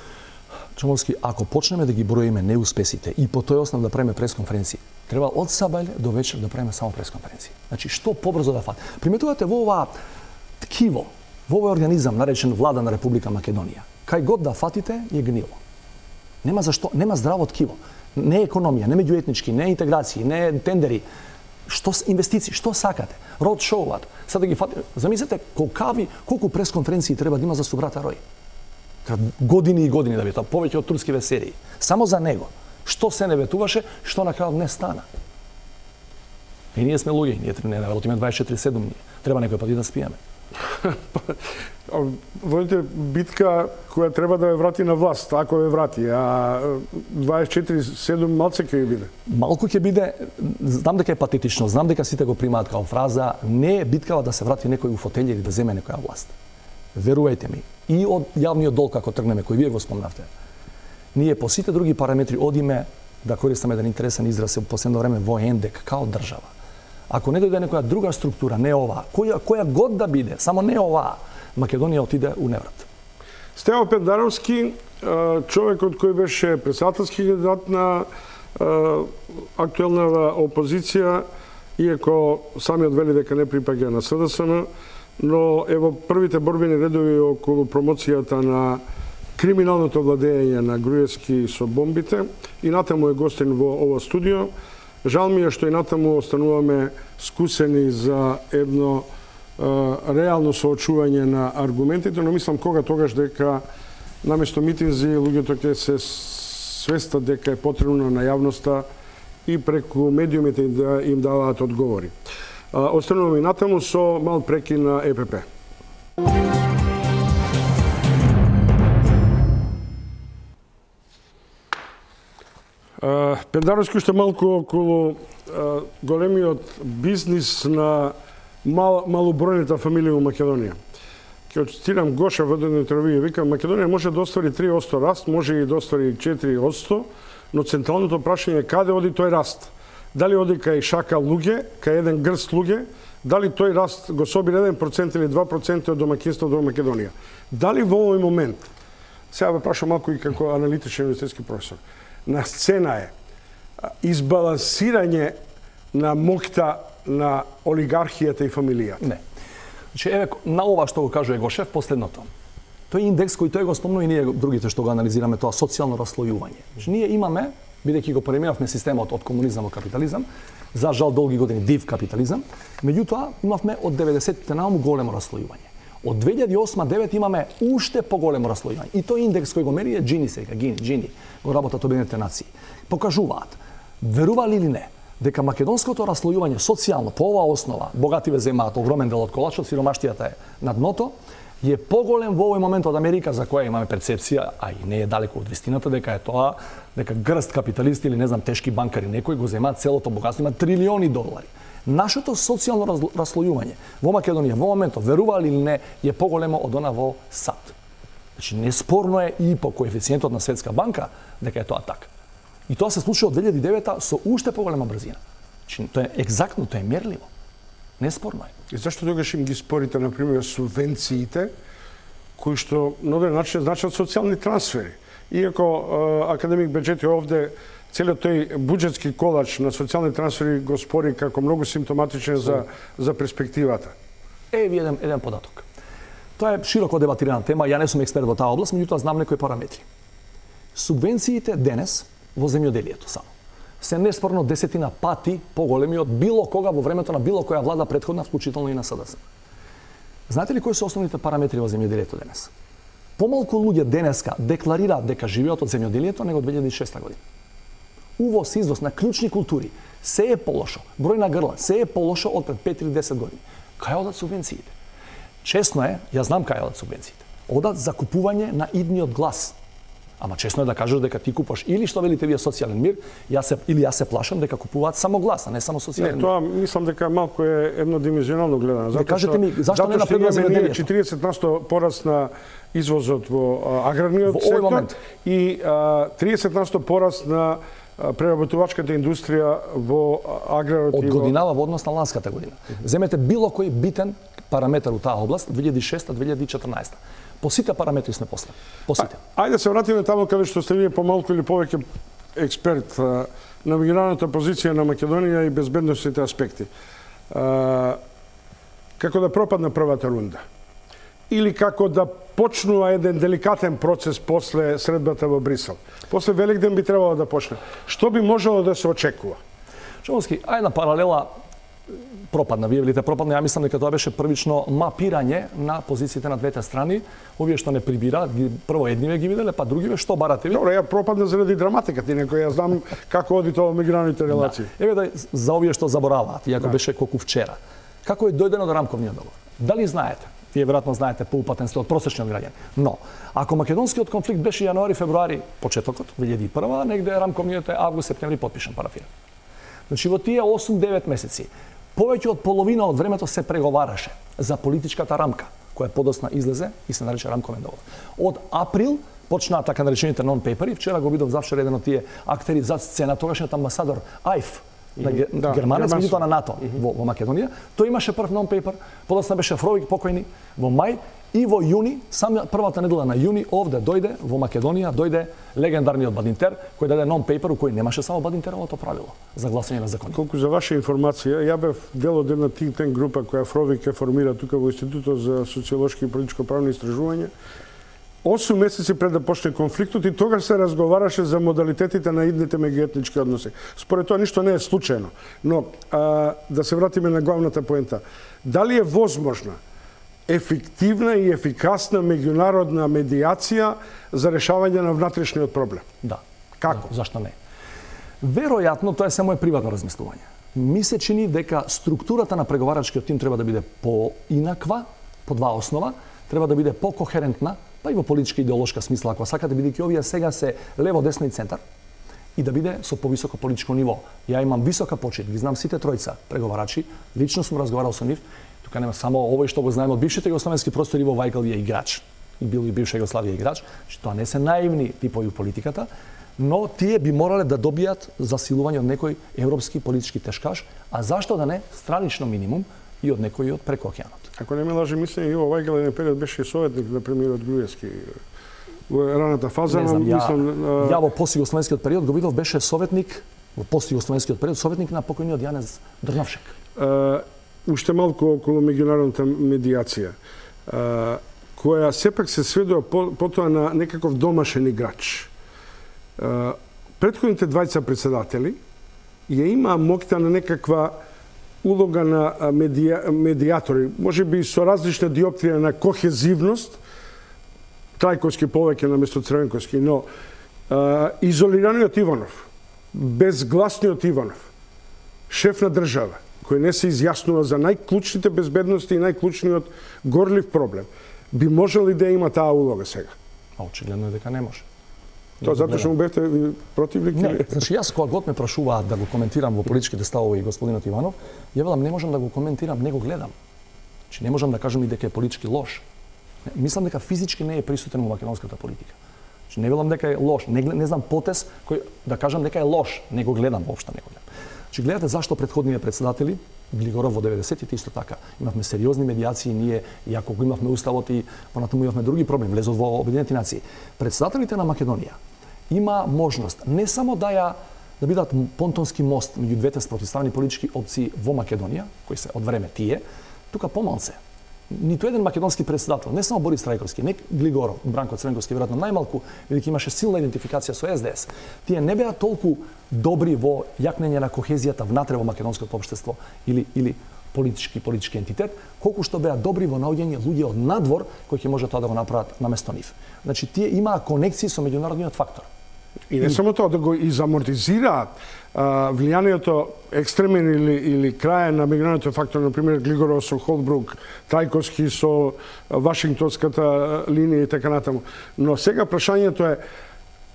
Чомовски, ако почнеме да ги броиме неуспесите и по тој основ да правиме пресконференции, треба од сабајле до вечер да правиме само пресконференции. Значи, што побрзо да фати. Приметувате во ова ткиво, во овој организам наречен Влада на Република Македонија. Кај год да фатите е гнило. Нема зашто, нема здраво ткиво. Не економија, не меѓуетнички, не интеграции, не тендери. Што инвестиции, што сакате? Род шоуат. Сега да ги фати, замислете колку пресконференции треба да има за Субрата Рој. Треба години и години да биде, повеќе од турскиве серии. Само за него. Што се не ветуваше, што на крајот не стана. И ние сме луѓе, ние не работиме 24/7 ние. Треба некој пат и да спиеме. Водите битка која треба да ја врати на власт, ако ја врати, а 24/7 малце ќе биде. Малку ќе биде, знам дека е патетично, знам дека сите го примаат као фраза, не е биткава да се врати некој у фотелја или да земе некоја власт. Верувајте ми, и од јавниот долг како тргнеме, кој вие го спомнавте, ние по сите други параметри одиме, да користаме еден интересен израз во последно време, во ендек, као држава. Ако не дојде некоја друга структура, не оваа, која год да биде, само не оваа, Македонија отиде у неврат. Стево Пендаровски, човекот кој беше претседателски кандидат на актуелна опозиција, иако самиот вели дека не припаѓа на СДСМ, но ево првите борбени редови околу промоцијата на криминалното владење на Груевски со бомбите и натаму е гостин во ова студио. Жал ми е што и натаму остануваме скусени за едно реално соочување на аргументите, но мислам тогаш дека наместо митинзи луѓето ќе се свестат дека е потребно на јавноста и преку медиумите да им даваат одговори. Остануваме и натаму со мал прекин на ЕПП. Пендаровски уште малку околу големиот бизнис на малобројната фамилија во Македонија. Ќе цитирам Гоша во едно интервју, вика, Македонија може да оствари 3% раст, може и да оствари 4%, но централното прашање е каде оди тој раст? Дали оди кај шака луѓе, кај еден грст луѓе, дали тој раст го собира 1% или 2% од домаќинството во Македонија? Дали во овој момент, сега ве прашам малку и како аналитичен универзитетски професор, на сцена е избалансирање на моќта на олигархијата и фамилијата? Не. Значи, еве, на ова што го кажува Гошев, последното. Тој индекс кој тој го спомнува и ние другите што го анализираме, тоа социјално расслојување. Значи, ние имаме, бидејќи го преминавме системот од комунизам во капитализам, за жал долги години див капитализам, меѓутоа имавме од 90-те наому големо расслојување. Од 2008-2009 имаме уште поголемо расслојување. И тој индекс кој го мери е Джини сега, Джини, го работат Обединетите нации. Покажуваат, верували или не, дека македонското расслојување социјално по оваа основа, богативе земаат огромен дел од колачот, сиромаштијата е на дното, е поголем во овој момент од Америка, за која имаме перцепција, а и не е далеко од вистината, дека е тоа, дека грст капиталисти или не знам тешки банкари некои го земаат целото богатство, има трилиони долари. Нашето социјално расслојување во Македонија во моментот, верували или не, е поголемо од она во САД. Значи, неспорно е и по коефициентот на Светска банка дека е тоа така. И тоа се случува од 2009 со уште поголема брзина. Значи, тоа е екзактно, тоа е мерливо. Неспорно е. И зашто тогаш им ги спорите, например, субвенциите, кои што на одреден начин значат социјални трансфери? Иако академик Беџети овде целиот тој буџетски колач на социјални трансфери го спори како многу симптоматичен за перспективата. Еви еден податок. Тоа е широко дебатирана тема, ја не сум експерт во таа област, меѓутоа знам некои параметри. Субвенциите денес во земјоделието само се неспорно 10 пати поголеми од било кога во времето на било која влада претходна, вклучително и на СДС. Знаете ли кои се основните параметри во земјоделието денес? Помалку луѓе денеска декларираат дека живеат од земјоделието него 2006 година. Увоз, извоз на клучни култури се е полошо. Број на грла се е полошо од пред 5 или 10 години. Кај одат субвенциите? Чесно е, ја знам кај одат субвенциите. Одат за купување на идниот глас. Ама чесно е да кажеш дека ти купаш или што велите вие социјален мир, јас се плашам дека купуваат само глас, а не само социјален мир. Тоа мислам дека малку е еднодимenzионално гледано. Не кажете ми зашто не напредува земјоделието? 40% пораст на извозот во аграрниот сектор и 30% пораст на преработувачката индустрија во аграрот од годинава во однос на ланската година. Земете било кој битен параметар у таа област 2006-2014. По сите параметри сме после. По сите. Ајде се вратиме таму каде што сте вие помалку или повеќе експерт на меѓународната позиција на Македонија и безбедносните аспекти. Како да пропадна првата рунда? Или како да почнува еден деликатен процес после средбата во Брисел? После Великден би требало да почне. Што би можело да се очекува? Шумовски, ајде паралела пропадна. Вие велите пропадна, ја мислам дека тоа беше првично мапирање на позициите на двете страни. Овие што не прибира, прво едниве ги виделе, па другиве што барате ви? Добро, ја пропадна заради драматиката, некој ја знам како оди тоа во меѓународните релации. Да. Еве да за овие што забораваат, иако беше колку вчера. Како е дојдено до рамковниот договор? Дали знаете? Вие веројатно знаете, поупатен сте од просечниот граѓанин. Но, ако македонскиот конфликт беше јануари-февруари, почетокот, 2001, негде рамковниот е август-септември подпишан, парафиран. Значи, во тие 8-9 месеци, повеќе од половина од времето се преговараше за политичката рамка, која подосна излезе и се нарече рамковен договор. Од април почнаа така наречените нон-пейпери, вчера го видов завчер еден од тие актери зад сцена, тогашниот амбасадор Ајф, на германец, меѓутоа на НАТО во Македонија. Тој имаше прв нон-пейпер, подосна беше Фровик покојни во мај и во јуни, сам првата недела на јуни, овде дојде во Македонија, дојде легендарниот Бадинтер, кој даде нон-пейпер у кој немаше само Бадинтеровото правило за гласање на закони. Колку за ваша информација, ја бев дел од една think tank група која Фровик е формира тука во Институтот за социолошки и политичко-правни истражувања. 8 месеци пред да почне конфликтот и тогаш се разговараше за модалитетите на идните меѓуетнички односи. Според тоа ништо не е случајно, но да се вратиме на главната поента. Дали е возможна ефективна и ефикасна меѓународна медиација за решавање на внатрешниот проблем? Да. Како? Зашто не? Веројатно тоа е само приватно размислување. Ми се чини дека структурата на преговарачкиот тим треба да биде поинаква, по два основа, треба да биде покохерентна, па и во политичка идеолошка смисла, ако сакате, бидејќи овие сега се лево, десно и центар, и да биде со повисоко политичко ниво. Ја имам висока почит, ги знам сите тројца преговарачи, лично сум разговарал со нив, тука нема само овој што го знаеме од бившите југословенски простори, Иво Вајгал е играч, и бил и бивша Југославија играч, што тоа не се наивни типови у политиката, но тие би морале да добијат засилување од некој европски политички тешкаш, а зашто да не странично минимум и од некој од преко океанот. Ако не ме лаже мислење, Иво Вајгал еден период беше советник на премиерот Груевски во раната фаза. Не знам, ја во постјугословенскиот период го видов, беше советник во постјугословенскиот период, советник на покојниот Јанез Дрновшек. Уште малку околу меѓународната медиација, која сепак се сведува потоа на некаков домашен играч. Претходните двајца председатели ја има моќта на некаква улога на медиатори, може би со различна диоптрија на кохезивност, Трајковски повеќе наместо Црвенковски, но изолираниот Иванов, безгласниот Иванов, шеф на држава, кој не се изјаснува за најклучните безбедности и најклучниот горлив проблем, би можел ли да има таа улога сега? Очигледно е дека не може. Тоа затоа што му бевте противник? Не, значи јас кога год ме прашуваат да го коментирам во политичките ставови и господинот Иванов, ја велам не можам да го коментирам, не го гледам. Значи не можам да кажам и дека е политички лош. Мислам дека физички не е присутен во македонската политика. Значи не велам дека е лош, не знам потез кој да кажам дека е лош, не го гледам воопшто, не го гледам. Значи гледате зашто претходните председатели Глигоров во 90-тите исто така. Имавме сериозни медиации, ние, иако го имавме уставот и понатаму имавме други проблеми, влезот во Обединените нации. Председателите на Македонија има можност не само да бидат понтонски мост меѓу двете спротивставени политички опции во Македонија, кои се од време тие, тука помалце. ниту еден македонски председател, не само Борис Трајковски, не Глигоров, Бранко Цренковски, веројатно најмалку, бидејќи имаше силна идентификација со СДС, тие не беа толку добри во јакнење на кохезијата внатре во македонското општество или политички ентитет, колку што беа добри во наоѓање луѓе од надвор кои ќе може тоа да го направат наместо нив. Значи тие имаа конекции со меѓународниот фактор. И не само тоа, да го изамортизираат влијанието екстремен или крајен на меѓународниот фактор, например Глигоров со Холбрук, Трајковски со Вашингтонската линија и така натаму. Но сега прашањето е,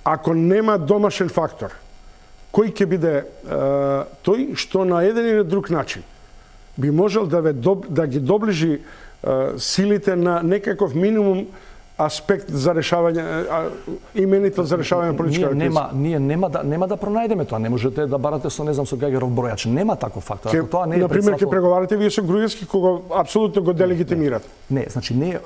ако нема домашен фактор, кој ќе биде тој што на еден или друг начин би можел да ги доближи силите на некаков минимум аспект за решавање, именито за решавање на политичка криза. Ние нема да пронајдеме тоа. Не можете да барате со, не знам, со Гагаров бројач. Нема таков фактор. Ако тоа не е например, ќе преговарате вие со Груевски, кога апсолутно го делегитимирате. Не, значи ние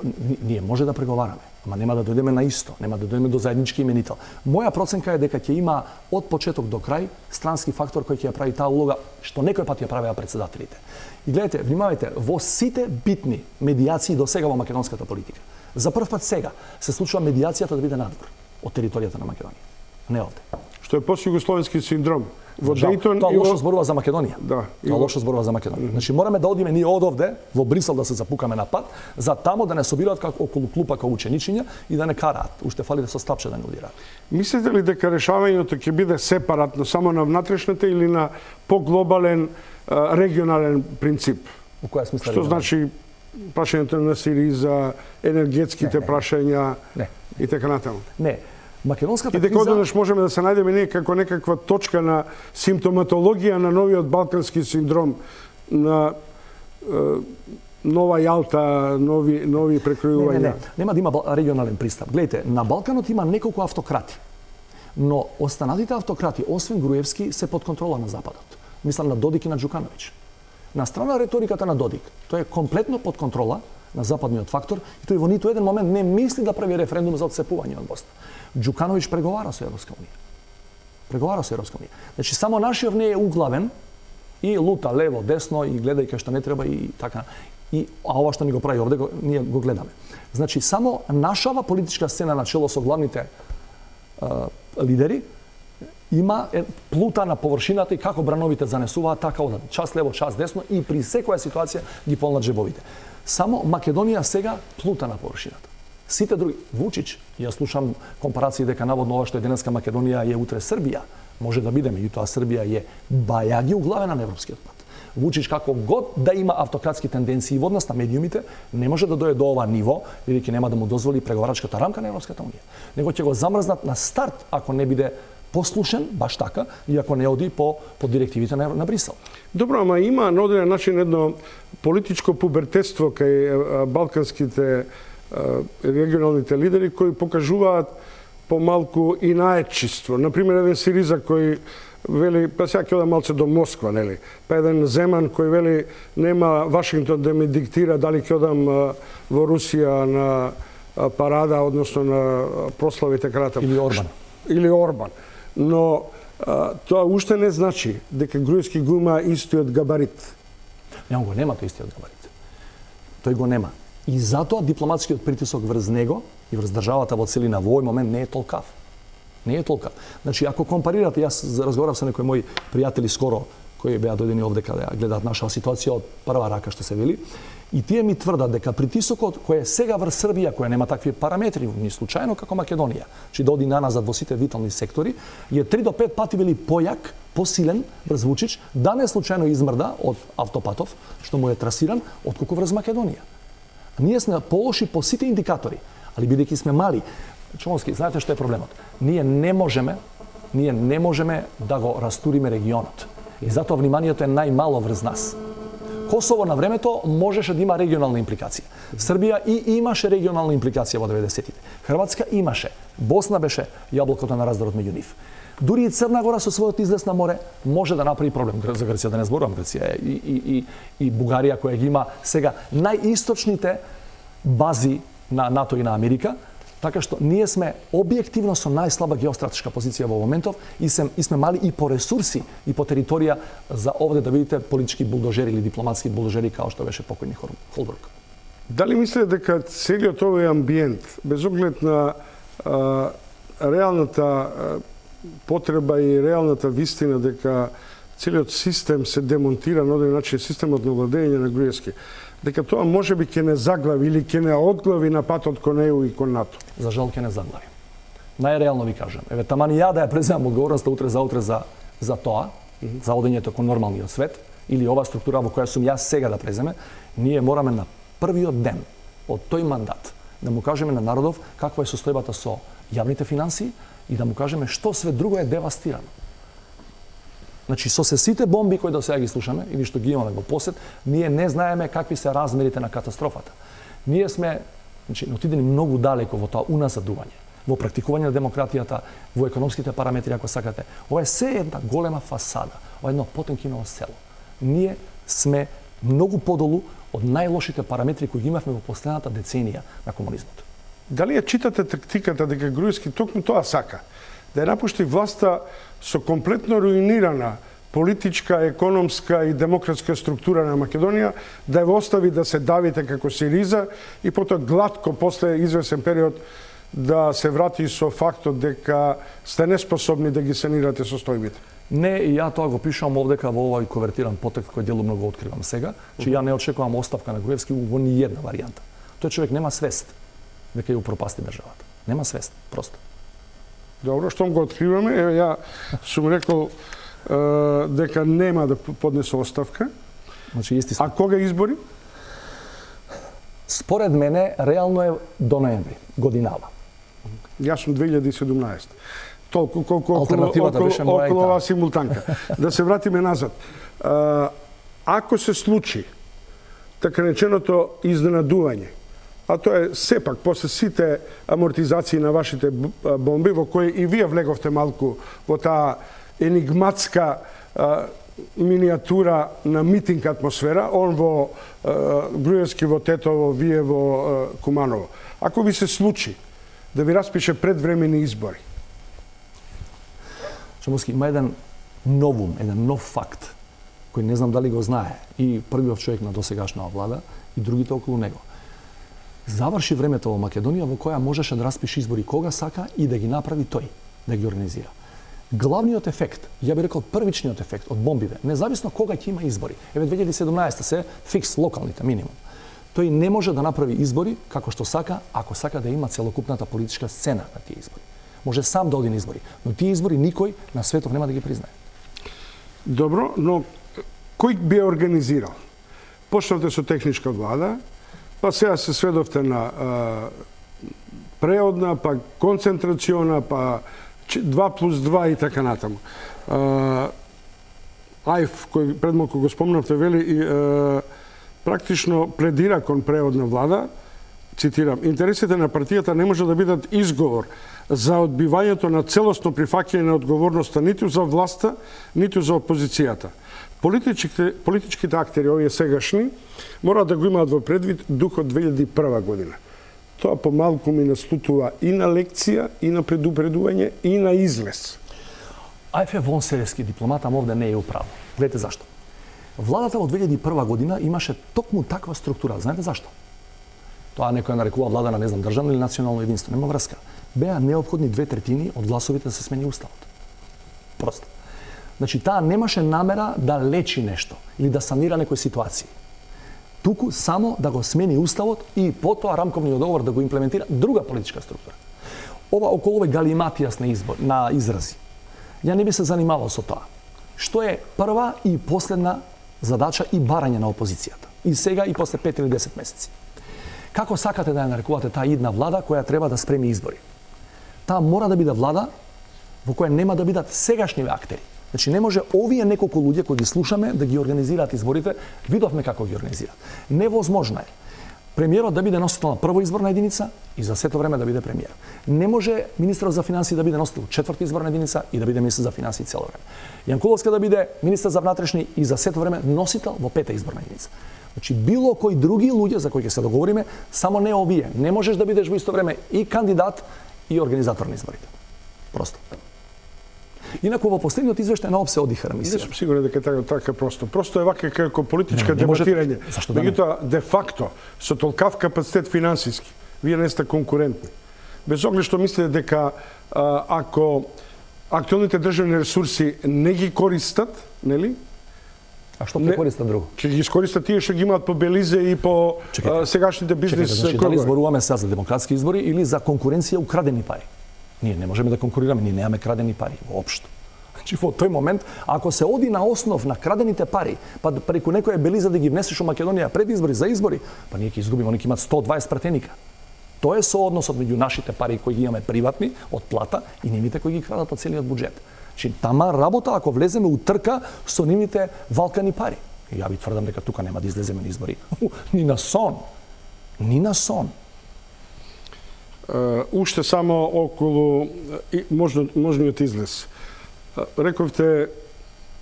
може да преговараме, ама нема да дојдеме на исто, нема да дојдеме до заеднички именител. Моја проценка е дека ќе има од почеток до крај странски фактор кој ќе ја прави таа улога што некој пат ја правеа председателите. И гледате, внимавајте, во сите битни медијации до сега во македонската политика, за прв пат сега се случува медијацијата да биде надвор од територијата на Македонија, не овде. Што е постјугословенски синдром. Во Дејтон тоа лошо зборува за Македонија. Да. Тоа лошо зборува за Македонија. Значи мораме да одиме ние од овде во Брисел да се запукаме на пат, за тамо да не собираат како околу клупа како ученичиња и да не караат. Уште фали да со стапче да не удираат. Мислите ли дека решавањето ќе биде сепаратно само на внатрешната или на поглобален регионален принцип? Во која смисла? Што значи прашањето на Сириза, енергетските прашања и така натаму? Не. Македонската криза... И дека одеднаш можеме да се најдеме ние како некаква точка на симптоматологија на новиот балкански синдром, на нова Јалта, нови прекројувања. Не. Нема да има регионален пристап. Гледайте, на Балканот има неколку автократи. Но останатите автократи, освен Груевски, се под контрола на Западот. Мислам на Додик и на Џукановиќ. На страна реториката на Додик, тој е комплетно под контрола на западниот фактор и тој во ниту еден момент не мисли да прави референдум за отцепување од Босна. Џукановиќ преговара со Европска унија. Значи само нашиот не е углавен и лута лево, десно и гледа и кај што не треба и така. А ова што ни го прави овде, ние го гледаме. Значи само нашава политичка сцена на чело со главните лидери има плута на површината и како брановите занесуваат, така одат час лево, час десно и при секоја ситуација ги полнат джебовите. Само Македонија сега плута на површината. Сите други, Вучич, ја слушам компарации дека наводно ова што е денеска Македонија е утре Србија, може да биде, меѓутоа Србија е бајаги углавена на европскиот пат. Вучич како год да има автократски тенденции во однос на медиумите, не може да дојде до ова ниво, бидејќи нема да му дозволи преговарачката рамка на Европската унија. Него ќе го замрзнат на старт ако не биде послушен, баш така, и ако не оди по директивите на Брисел. Добро, ама има на одреден начин едно политичко пубертетство кај балканските регионалните лидери кои покажуваат помалку и наетчиство. Например, еден Сириза кој вели, па сега ќе одам малце до Москва, нели? Па еден Земан кој вели, нема Вашингтон да ми диктира дали ќе одам во Русија на парада, односно на прослави така натаму. Или Орбан. Но тоа уште не значи дека Груевски го има истиот габарит. Него го нема тој истиот габарит. Тој го нема. И затоа дипломатскиот притисок врз него и врз државата во целина во овој момент не е толкав. Не е толкав. Значи, ако компарирате, јас разговарав со некои мои пријатели скоро, кои беа дојдени овде каде гледаат нашава ситуација од прва рака, што се вели, и тие ми тврдат дека притисокот кој е сега врз Србија, која нема такви параметри, ни случајно како Македонија, че да оди наназад во сите витални сектори, е 3 до 5 пати вели појак, посилен врз Вучич, да не случајно измрда од автопатов, што му е трасиран, отколку врз Македонија. Ние сме полоши по сите индикатори, али бидејќи сме мали. Чомски, знаете што е проблемот? Ние не можеме да го растуриме регионот. И затоа вниманието е најмало врз нас. Косово на времето можеше да има регионална импликација. Србија и имаше регионална импликација во 90-тите. Хрватска имаше. Босна беше јаблокото на раздорот меѓу нив. Дури и Црна Гора со својот излез на море може да направи проблем. За Грција да не зборувам, Грција и Бугарија која ги има сега најисточните бази на НАТО и на Америка, така што ние сме објективно со најслаба геостратешка позиција во моментов и сме мали и по ресурси и по територија за овде да видите политички булдожери или дипломатски булдожери као што беше покојни Холбрук. Дали мислите дека целиот овој амбиент, без оглед на реалната потреба и реалната вистина дека целиот систем се демонтира на одреден начин, системот на владење на Груевски, дека тоа може би ќе не заглави или ќе не одглави на патот кон ЕУ и кон НАТО? За жал ќе не заглави. Најреално ви кажам. Еве, таман ја да ја преземам одговорноста утре за тоа, за одењето кон нормалниот свет, или ова структура во која сум јас сега да преземе, ние мораме на првиот ден од тој мандат да му кажеме на народов каква е состојбата со јавните финансии и да му кажеме што све друго е девастирано. Значи, со сите бомби кои до сега ги слушаме или што ги имаме во посет, ние не знаеме какви се размерите на катастрофата. Ние сме, значи, отидени многу далеко во тоа уназадување, во практикување на демократијата, во економските параметри, ако сакате. Ова е се една голема фасада, ова е едно Потемкиново село. Ние сме многу подолу од најлошите параметри кои ги имавме во последната деценија на комунизмот. Дали ја читате тактиката дека Груевски токму тоа сака? Да ја напушти власта со комплетно руинирана политичка, економска и демократска структура на Македонија, да ја остави да се давите како Сириза и потоа глатко после извесен период да се врати со фактот дека сте неспособни да ги санирате состојбите? Не, и ја тоа го пишам овдека во овој ковертиран потекст кој делумно го откривам сега, че ја не очекувам оставка на Груевски во ни една варијанта. Тој човек нема свест дека ја упропасти државата. Нема свест, просто. Добро, штом го откриваме, еве ја сум рекол дека нема да поднесе оставка. Значи, а кога избори? Според мене, реално е до ноември, годинава. Јас сум 2017. Толку колку околу оваа симултанка. Да се вратиме назад. Ако се случи така реченото изненадување, а тоа е сепак после сите амортизации на вашите бомби, во кои и вие влеговте малку во таа енигматска миниатура на митинг атмосфера, он во Груевски, во Тетово, вие во Куманово. Ако ви се случи да ви распише предвремени избори? Шамовски, има еден новум, еден нов факт, кој не знам дали го знае и првиот човек на досегашната влада и другите околу него. Заврши времето во Македонија во која можеше да распише избори кога сака и да ги направи тој, да ги организира. Главниот ефект, ја би рекол првичниот ефект од бомбиве, независно кога ќе има избори, еве 2017 се фикс локалните минимум. Тој не може да направи избори како што сака, ако сака да има целокупната политичка сцена на тие избори. Може сам да оди на избори, но тие избори никој на светов нема да ги признае. Добро, но кој би ја организирал? Почнавте со техничка влада, па сега се сведовте на преодна, па концентрациона, па 2+2 и така натаму. Ајф, кој пред малку го спомнавте, вели практично пледира кон преодна влада, цитирам, интересите на партијата не може да бидат изговор за одбивањето на целосно прифаќање на одговорноста ниту за власта, ниту за опозицијата. Политичките актери, овие сегашни, мора да го имаат во предвид духот 2001 година. Тоа помалку ми настутува и на лекција, и на предупредување, и на излез. Ајф е вонсеревски дипломат, ама овде не е управо. Гледате зашто. Владата во 2001 година имаше токму таква структура. Знаете зашто? Тоа некој нарекува влада на, не знам, државно или национално единство. Нема врска. Беа неопходни 2/3 од гласовите да се смени уставот. Просто. Значи, таа немаше намера да лечи нешто или да санира некои ситуации. Туку само да го смени уставот и потоа рамковниот договор да го имплементира друга политичка структура. Ова околу овој галиматијас на изрази. Ја не би се занимавал со тоа. Што е прва и последна задача и барање на опозицијата. И сега и после 5 или 10 месеци. Како сакате да ја нарекувате таа идна влада која треба да спреми избори? Таа мора да биде влада во која нема да бидат сегашни актери. Значи не може овие неколку луѓе кои ги слушаме да ги организираат изборите, видовме како ги организираат. Невозможно е премиерот да биде носител на прва изборна единица и за сето време да биде премиер. Не може министерот за финансии да биде носител четврта изборна единица и да биде министер за финансии цело време. Јанкуловска да биде министер за внатрешни и за сето време носител во пета изборна единица. Значи било кои други луѓе за кои ќе се договориме, само не овие. Не можеш да бидеш во исто време и кандидат и организатор на изборите. Просто. Инаку во последниот извештај на ОПСЕ одиха Не ремисија. сум сигурен дека така просто. Просто е вака како политичка Не може- дебатирање. Зашто да не? Меѓутоа, де факто, со толкав капацитет финансиски, вие не сте конкурентни. Без оглед што мислите дека ако актуелните државни ресурси не ги користат, нели? А што прекориста друго? Ќе ги искористат тие што ги имаат по Белизе и по сегашните бизнес Значи, дали кругови. зборуваме сега за демократски избори или за конкуренција украдени пари? Ние не можеме да конкурираме, ние немаме крадени пари воопшто. Значи во тој момент, ако се оди на основ на крадените пари, па преку некоја Белиза да ги внесеш у Македонија пред избори за избори, па ние ќе изгубиме, они ќе имаат 120 пратеника. Тоа е соодносот меѓу нашите пари кои ги имаме приватни од плата и нивните кои ги крадат од целиот буџет. Значи тама работа ако влеземе у трка со нивните валкани пари. И ја ви тврдам дека тука нема да излеземе на избори. Ни на сон. Ни на сон. Уште само околу можниот излез. Рековте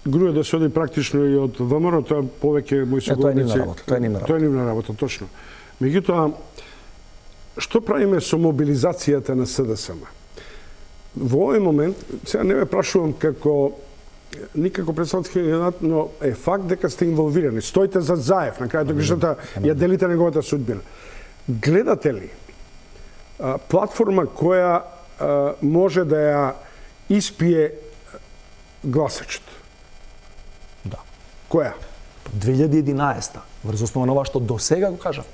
груе да се оди практично и од ВМРО, тоа повеќе мои соговорници. Тоа е нивна работа. Тоа е нивна работа, точно. Меѓутоа, што правиме со мобилизацијата на СДСМ? Во овој момент, сега не ме прашувам никако представителски кандидат, но е факт дека сте инволвирани. Стоите за Заев, на крајот грижата ја делите неговата судбина. Гледате ли платформа која може да ја испие гласачот? Да. Која? 2011 врз основа на ова што до сега го кажавме.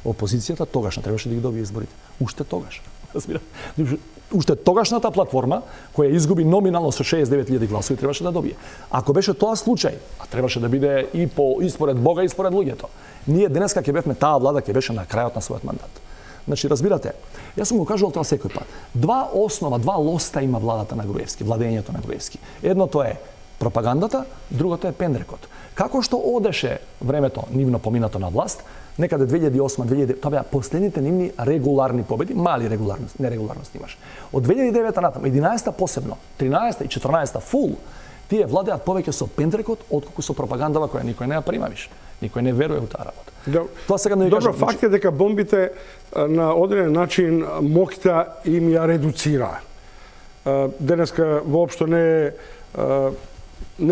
Опозицијата тогаш не требаше да ги добие изборите. Уште тогаш. Уште тогашната платформа која изгуби номинално со 69.000 гласови требаше да добие. Ако беше тоа случај, а требаше да биде и според Бога и според луѓето, ние денеска ќе бевме таа влада ќе беше на крајот на својот мандат. Значи, разбирате, јас сум го кажувал тоа секој пат. Два лоста има владата на Груевски, владењето на Груевски. Едното е пропагандата, другото е пендрекот. Како што одеше времето нивно поминато на власт, некаде 2008-2009, тоа беа последните нивни регуларни победи, мали нерегуларности имаш. Од 2009 натаму, 11-та посебно, 13-та и 14-та фул, тие владеат повеќе со пендрекот отколку со пропагандава која никој не ја прима више. Никој не верува во таа работа. Тоа сега не ви кажам. Добро, факт е дека бомбите на одреден начин моќта им ја редуцира. Денеска воопшто не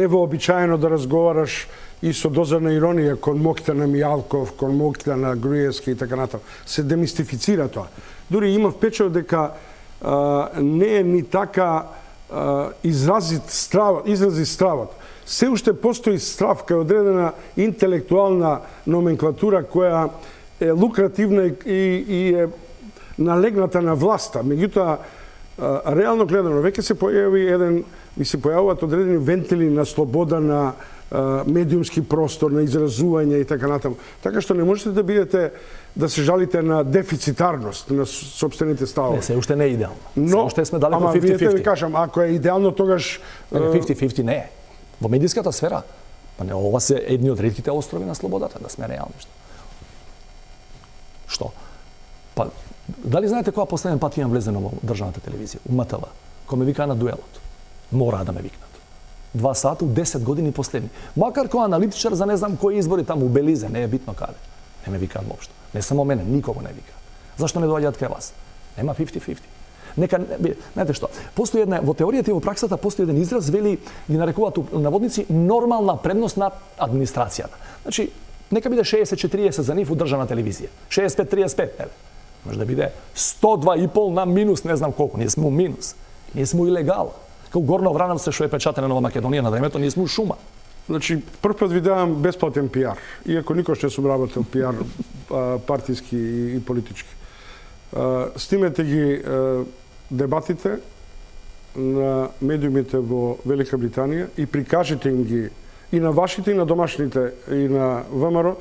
е вообичаено да разговараш и со доза на иронија кон моќта на Мијалков, кон моќта на Груевски и така натаму. Се демистифицира тоа. Дури има впечат дека не е ни така изрази стравот. Се уште постои страв кај одредена интелектуална номенклатура која е лукративна и е налегната на власта. Меѓутоа, реално гледано, веќе се појавуваат одредени вентили на слобода, на медиумски простор, на изразување и така натаму. Така што не можете да бидете да се жалите на дефицитарност на собствените ставови. Не, се уште не е идеално. Но, уште сме далеко 50-50. Ама видите ви кажам, ако е идеално тогаш 50-50 не е. Во медиската сфера, па не, ова се едни од ретките острови на слободата, да сме реални. Што? Па, дали знаете која последен пат имам влезено во државната телевизија? У МТВ. Кој ме вика на дуелот. Мора да ме викнат. 2 сата, 10 години последни. Макар кој аналитичар за не знам кои избори таму у Белизе, не е битно каде. Не ме викаат воопшто. Не само мене, никого не вика. Зашто не доаѓаат кај вас? Нема 50-50. Нека, знаете што, постои една, во теоријата и во праксата постои еден израз, вели, ги нарекуваат наводници, нормална предност над администрацијата. Значи, нека биде 60-40 за нив у државна телевизија. 65-35, нели? Може да биде 102,5 на минус, не знам колку. Ние сме у минус. Ние сме у илегала. Као Горно Врановце што е печатена Нова Македонија на времето, ние сме у шума. Значи, прв пат ви давам бесплатен пиар, иако никош не сум работел пиар партиски и политички. Снимете ги дебатите на медиумите во Велика Британија и прикажете им ги и на вашите, и на домашните, и на ВМРО,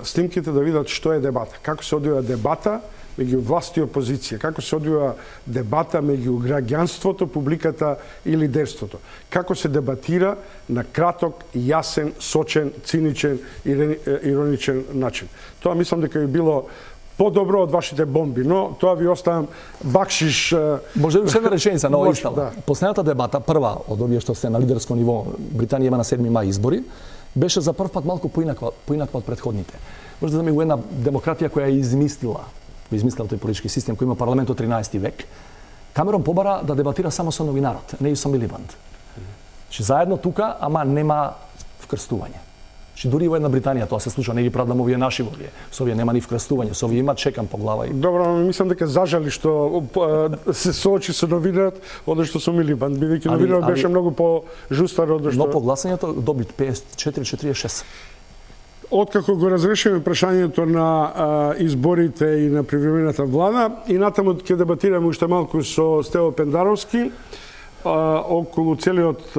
снимките да видат што е дебата, како се одвива дебата меѓу власт и опозиција, како се одвива дебата меѓу граѓанството, публиката и лидерството, како се дебатира на краток, јасен, сочен, циничен и ироничен начин. Тоа мислам дека би било подобро од вашите бомби, но тоа ви оставам бакшиш. Може уште една реченица на овој стал. Да. Последната дебата, прва од овие што се на лидерско ниво, Британија има на 7 мај избори, беше за прв пат малку поинаква од претходните. Може да ми една демократија која е измислила тој политички систем кој има парламент од 13 век Камерон побара да дебатира само со новинарот, не и со Милибанд. Заедно тука, ама нема вкрстување. Дури во една Британија тоа се случува, не ги правдам овие наши овие. Со овие нема ни вкрстување, со овие има чекам по глава. Добро, мислам дека зажали што се соочи со новинарот, одошто со Милибанд, бидејќи новинарот беше многу по-жустар од што. Но по гласањето доби 54-46. Откако го разрешиме прашањето на изборите и на привремената влада, и натаму ќе дебатираме уште малку со Стево Пендаровски околу целиот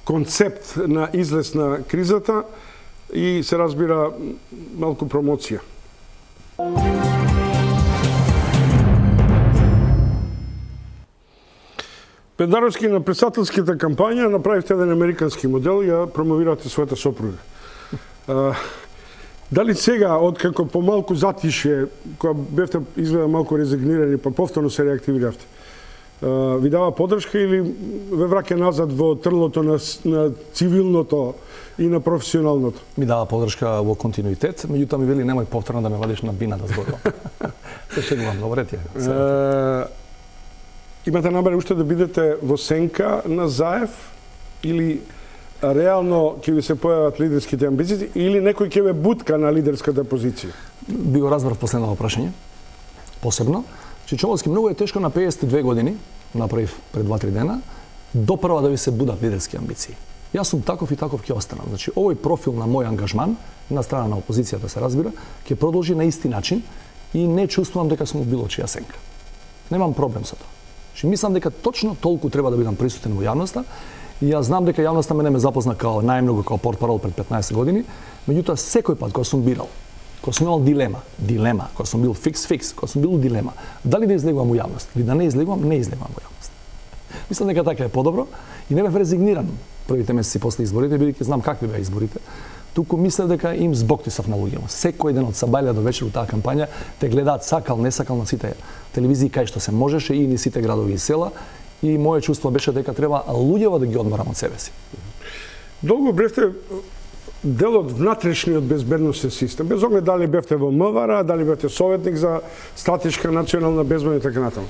концепт на излез на кризата и се разбира малку промоција. Пендаровски на председателската кампања направивте еден американски модел и ја промовирате својата сопруга. Дали сега, откако помалку затише, кога бевте изгледа малку резигнирани, па повторно се реактивиравте, ви дава поддршка или ве враќа назад во трлото на цивилното и на професионалното? Ми дава поддршка во континуитет, меѓутоа ми вели немој повторно да ме вадиш на бина да зборувам. Се шегувам, добре ти е. Имате намера уште да бидете во сенка на Заев или реално ќе ви се појават лидерските амбиции или некој ќе ве бутка на лидерската позиција? Би го разбрав последното прашање. Посебно, Чичовски многу е тешко на 52 години, направив пред 2-3 дена, допрва да ви се будат лидерски амбиции. Јас сум таков и таков ќе останам. Значи, овој профил на мој ангажман, на страна на опозицијата се разбира, ќе продолжи на исти начин и не чувствувам дека сум било чија сенка. Немам проблем со тоа. Значи, мислам дека точно толку треба да бидам присутен во јавноста и јас знам дека јавноста мене ме запозна као најмногу као портпарол пред 15 години, меѓутоа секој пат кога сум бирал, кога сум имал дилема, кога сум бил фикс, кога сум бил дилема, дали да излегувам у јавност или да не излегувам во јавност. Мислам дека така е подобро и не бев резигниран првите месеци после изборите, бидејќи знам какви беа изборите. Туку мислев дека им збоктисав на луѓето. Секој ден од сабајле до вечер у таа кампања те гледаат сакал, не сакал на сите телевизии кај што се можеше и ни сите градови и села. И моје чувство беше дека треба луѓето да ги одморам од себе си. Долго бевте дел од внатрешниот безбедносен систем. Без оглед дали бевте во МВР, дали бевте советник за стратешка национална безбедност и така натаму.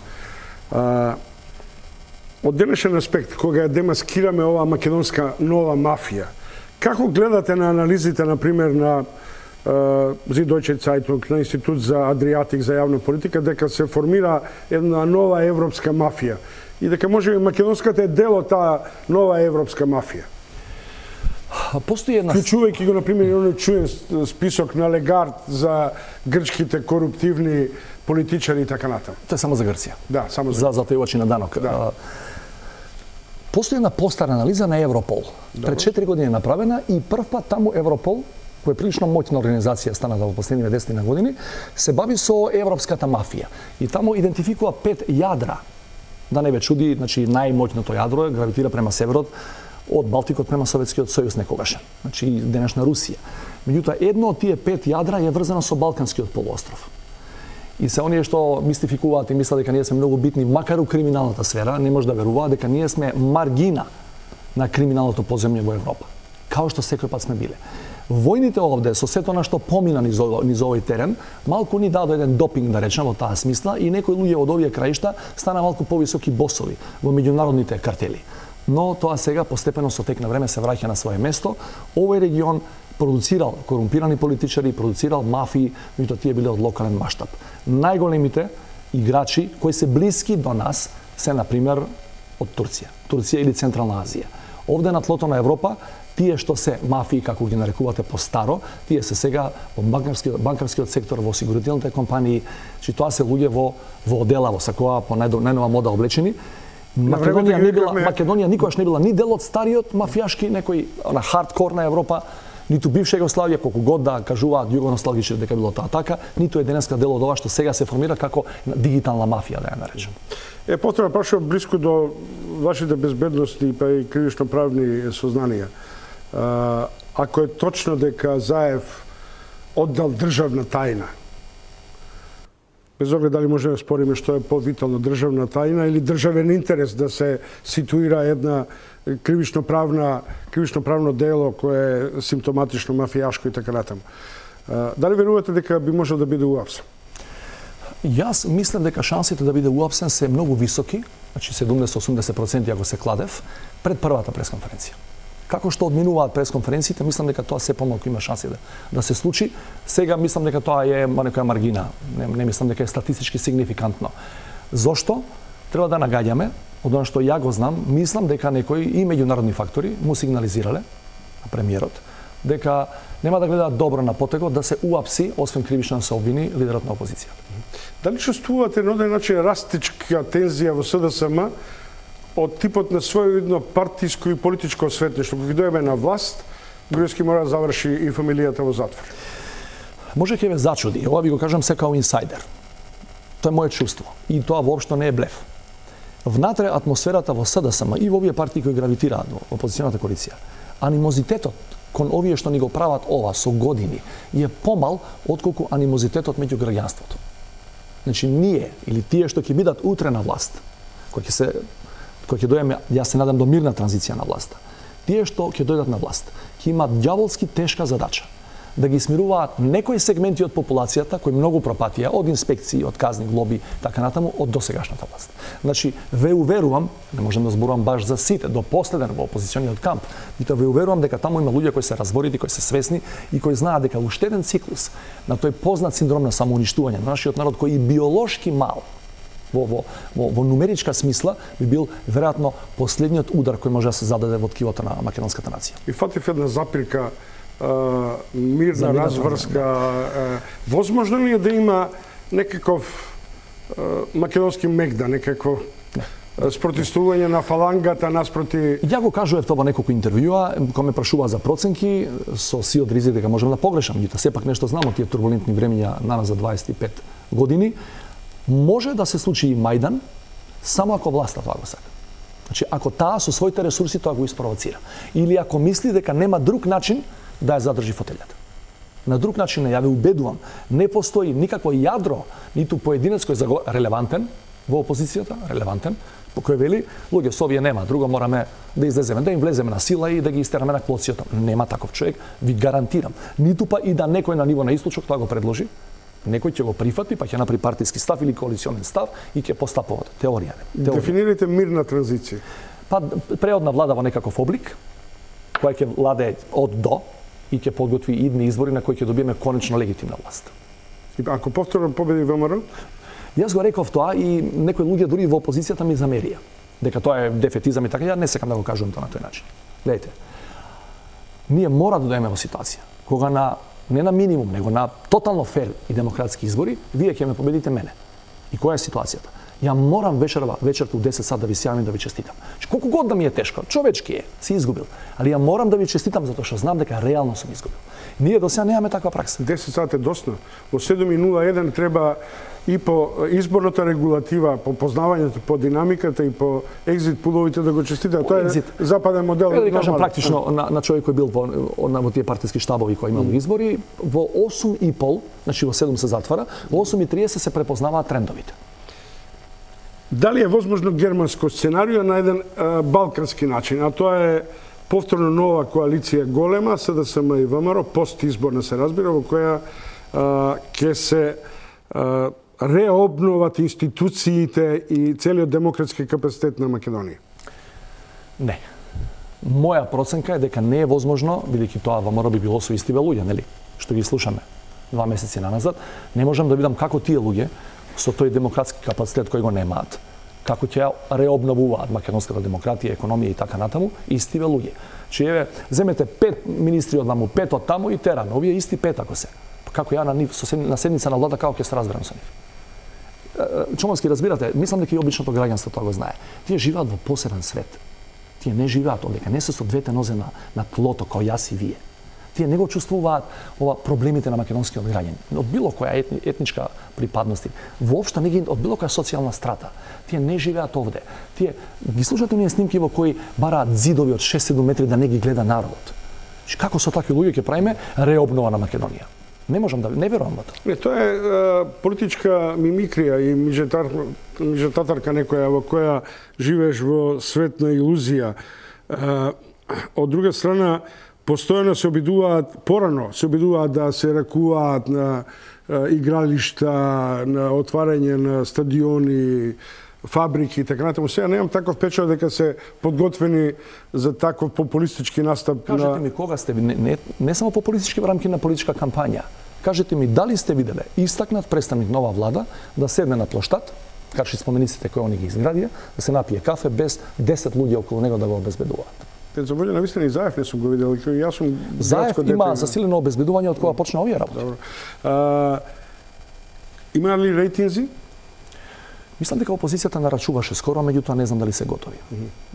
Од денешен аспект, кога ја демаскираме оваа македонска нова мафија, како гледате на анализите, например, на Süddeutsche Zeitung, на Институт за Адриатик за јавна политика, дека се формира една нова европска мафија и дека може македонската е дел од таа нова европска мафија? Постои една... Вклучувајќи го, например, оној чуен список на Легард за грчките коруптивни политичари и така натаму. Тоа е само за Грција. Да, само за Грција. За затојувачи на данок. Да. Постои една постара анализа на Европол. Пред 4 години е направена и прв пат таму Европол, која е прилично моќна организација станата во последниве 10 години, се бави со европската мафија. И таму идентификува 5 јадра. Да не ве чуди, значи најмоќното јадро гравитира према северот, од Балтикот према Советскиот сојуз некогаш, значи денешна Русија. Меѓутоа, едно од тие 5 јадра е врзано со Балканскиот полуостров. И се оние што мистификуваат и мислат дека ние сме многу битни, макар у криминалната сфера, не може да веруваат дека ние сме маргина на криминалното поземје во Европа. Као што секој пат сме биле. Војните овде, со сето на што помина низ овој терен, малку ни даде еден допинг, да речем, во таа смисла, и некои луѓе од овие краишта стана малку повисоки босови во меѓународните картели. Но тоа сега постепено со тек на време се враќа на свое место. Овој регион продуцирал корумпирани политичари, продуцирал мафии, меѓутоа тие биле од локален маштаб. Најголемите играчи кои се блиски до нас се, например, од Турција или Централна Азија. Овде на тлото на Европа, тие што се мафии, како ги нарекувате по-старо, тие се сега во банкарскиот сектор, во осигурителните компании, че тоа се луѓе во одела, во сакоа по најнова мода облечени. Македонија никогаш не била ни дел од стариот мафијашки некој на хардкор на Европа, ниту бивша Југославија, колку год да кажуваат југоносталгичи дека било тоа така, ниту е денеска дел од ова што сега се формира како дигитална мафија, да ја наречем. Потреба прашувам блиску до вашите безбедности па и кривично-правни сознанија. Ако е точно дека Заев оддал државна тајна, без оглед дали може да спориме што е повитално државна тајна или државен интерес да се ситуира една кривично-правно дело кое е симптоматично мафијашко и така натаму. Дали верувате дека би можел да биде уапсен? Јас мислам дека шансите да биде уапсен се многу високи, значи 70-80% ако се кладев, пред првата пресконференција. Како што одминуваат пресконференциите, мислам дека тоа се помалку има шанси да се случи. Сега мислам дека тоа е некоја маргина. Не мислам дека е статистички сигнификантно. Зошто? Треба да нагаѓаме, од она што ја го знам, мислам дека некои и меѓународни фактори му сигнализирале на премиерот дека нема да гледаат добро на потегот да се уапси, освен кривично да се обвини, лидерот на опозицијата. Дали чувствувате на оден начин растичка тензија во СДСМ од типот на своевидно партиско и политичко осветништво? Кога дојме на власт, Груевски мора да заврши и фамилијата во затвор. Може ќе ве зачуди, ова ви го кажам се као инсайдер. Тоа е мое чувство и тоа воопшто не е блеф. Внатре атмосферата во СДСМ и во овие партии кои гравитираат во опозиционата коалиција, анимозитетот кон овие што ни го прават ова со години е помал отколку анимозитетот меѓу граѓанството. Значи ние или тие што ќе бидат утре на власт, кои ќе дојдеме, јас се надам до мирна транзиција на власта. Тие што ќе дојдат на власт, ќе имаат ѓаволски тешка задача да ги смируваат некои сегменти од популацијата кои многу пропатија од инспекции, од казни, глоби, така натаму од досегашната власт. Значи ве уверувам, не можам да зборувам баш за сите, до последен во опозициониот камп, меѓутоа ве уверувам дека таму има луѓе кои се разборити, кои се свесни и кои знаат дека уште еден циклус на тој познат синдром на самоуништување на нашиот народ кој и биолошки мал во нумеричка смисла би бил веројатно последниот удар кој може да се зададе во ткивото на македонската нација. И фатив една запирка, мирна разврска. Возможно ли е да има некаков македонски мегда, некакво спротивствување на фалангата наспроти? Ја го кажував тоа во неколку интервјуа, кога ме прашуваа за проценки, со сиот ризик дека можам да погрешам, меѓутоа сепак нешто знам од тие турбулентни времиња нанас за 25 години. Може да се случи и Мајдан, само ако власта тоа го сака. Значи, ако таа со своите ресурси тоа го испровоцира. Или ако мисли дека нема друг начин да ја задржи фотелјата. На друг начин, ја ве убедувам, не постои никакво јадро, ниту поединец кој е релевантен во опозицијата, релевантен, по кој вели, луѓе, со овие нема, друго мораме да излеземе, да им влеземе на сила и да ги истераме на клоцијата. Нема таков човек, ви гарантирам. Ниту па и да некој на ниво на Источок тоа го предложи, некој ќе го прифати, па ќе направи партиски став или коалиционен став и ќе постапува. Теорија. Дефинирайте мирна транзиција. Па преодна влада во некаков облик, која ќе владее од до и ќе подготви идни избори на кои ќе добиеме конечно легитимна власт. И ако повторно победи ВМРО? Јас го реков тоа и некои луѓе дури во опозицијата ми замерија дека тоа е дефетизам и така. Ја не сакам да го кажувам тоа на тој начин. Гледайте, ние мора да дојдеме во ситуација кога не на минимум, него на тотално фер и демократски избори, вие ќе ме победите мене. И која е ситуацијата? Ја морам вечерта у 10 сат да ви се јавим да ви честитам. Колку год да ми е тешко, човечки е, си изгубил. Али ја морам да ви честитам затоа што знам дека реално сум изгубил. Ние до сега немаме таква пракса. 10 сат е доста. Во 7:01 треба и по изборната регулатива, по познавањето, по динамиката и по екзит пуловите да го честитат. Тоа е западен модел. Да кажам практично на човек кој бил во тие партиски штабови кои имал избори, во 8:30, значи во 7 се затвара, во 8:30 се препознаваат трендовите. Дали е возможно германско сценарио на еден балкански начин, а тоа е повторно нова коалиција голема, СДСМ и ВМРО, постизборна се разбира, во која ќе се реобноват институциите и целиот демократски капацитет на Македонија? Не. Моја проценка е дека не е возможно, бидејќи тоа ВМРО би било со истиве луѓе, нели? Што ги слушаме 2 месеци наназад, не можам да видам како тие луѓе со тој демократски капацитет кој го немаат, како ќе реобновуваат македонската демократија, економија и така натаму, истиве луѓе. Че еве, земете 5 министри од ваму, 5 од таму и тераме, овие исти 5 ако се. Како ја на седница на влада, како ќе се разберам со нив. Чомовски, разбирате, мислам дека и обичното граѓанство тоа го знае. Тие живеат во посебен свет. Тие не живеат овде, не се со двете нозе на тлото, као јас и вие. Тие не го чувствуваат проблемите на македонскиот граѓани. Од било која етничка припадност, воопшто не ги од било која социјална страта. Тие не живеат овде. Тие ги слушате оние снимки во кои бараат зидови од 6-7 метри да не ги гледа народот. Како со такви луѓе ќе правиме реобнова на Македонија? Не можам да не верувам во тоа. Тоа е политичка мимикрија и мижетатарка некоја во која живееш во свет на илузија. Од друга страна, постојано се обидуваат, порано се обидуваат да се ракуваат на игралишта, на отварање на стадиони, фабрики и така натаму. Сега немам таков впечаток дека се подготвени за таков популистички настап. Кажете ми кога сте не само популистички во рамки на политичка кампања. Кажете ми дали сте виделе истакнат представник нова влада да седне на плоштад, каши спомениците кои они ги изградија, да се напие кафе без 10 луѓе околу него да го обезбедуваат. За волја на вистина и Заев не сум го видел, јас сум Заев има засилено обезбедување од кога почна овие работи. Добро. Има ли рейтинзи? Мислам дека опозицијата нарачуваше скоро, меѓутоа не знам дали се готови.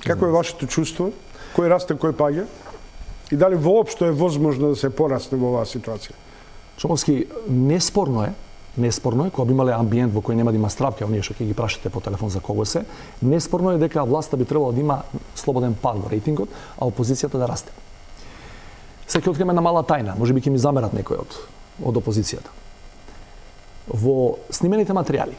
Како е вашето чувство? Кој расте, кој паѓа? И дали воопшто е возможно да се порасне во оваа ситуација? Шумовски, неспорно е, кога би имале амбиент во кој нема да има стравки, оние што ќе ги прашате по телефон за кого се, неспорно е дека власта би требало да има слободен пад во рейтингот, а опозицијата да расте. Сега ќе откриеме една мала тајна, можеби ќе ми замерат некој од опозицијата. Во снимените материјали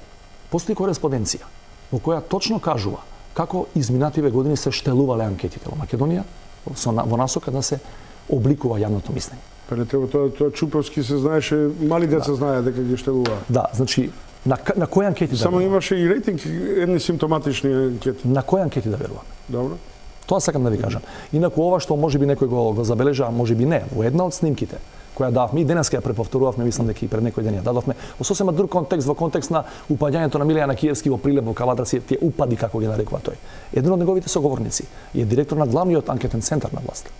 постои кореспонденција во која точно кажува како изминативе години се штелувале анкетите во Македонија во насока да се обликува јавното мислење. Па не треба тоа Чуповски се знаеше, мали деца знаеа дека ги штелуваа. Да, значи на кои анкети да само имаше и рейтинг едни симптоматични анкети. На кои анкети да веруваме? Добро. Тоа сакам да ви кажам. Инаку ова што можеби некој го забележа, можеби не, во една од снимките која дававме и денеска ја преповторувавме, мислам дека и пред некој ден ја дадовме, во сосема друг контекст, во контекст на упаѓањето на Милијана Киевски во Прилеп во Кавадарци, тие упади како ги нарекува тој. Еден од неговите соговорници е директор на главниот анкетен центар на власт.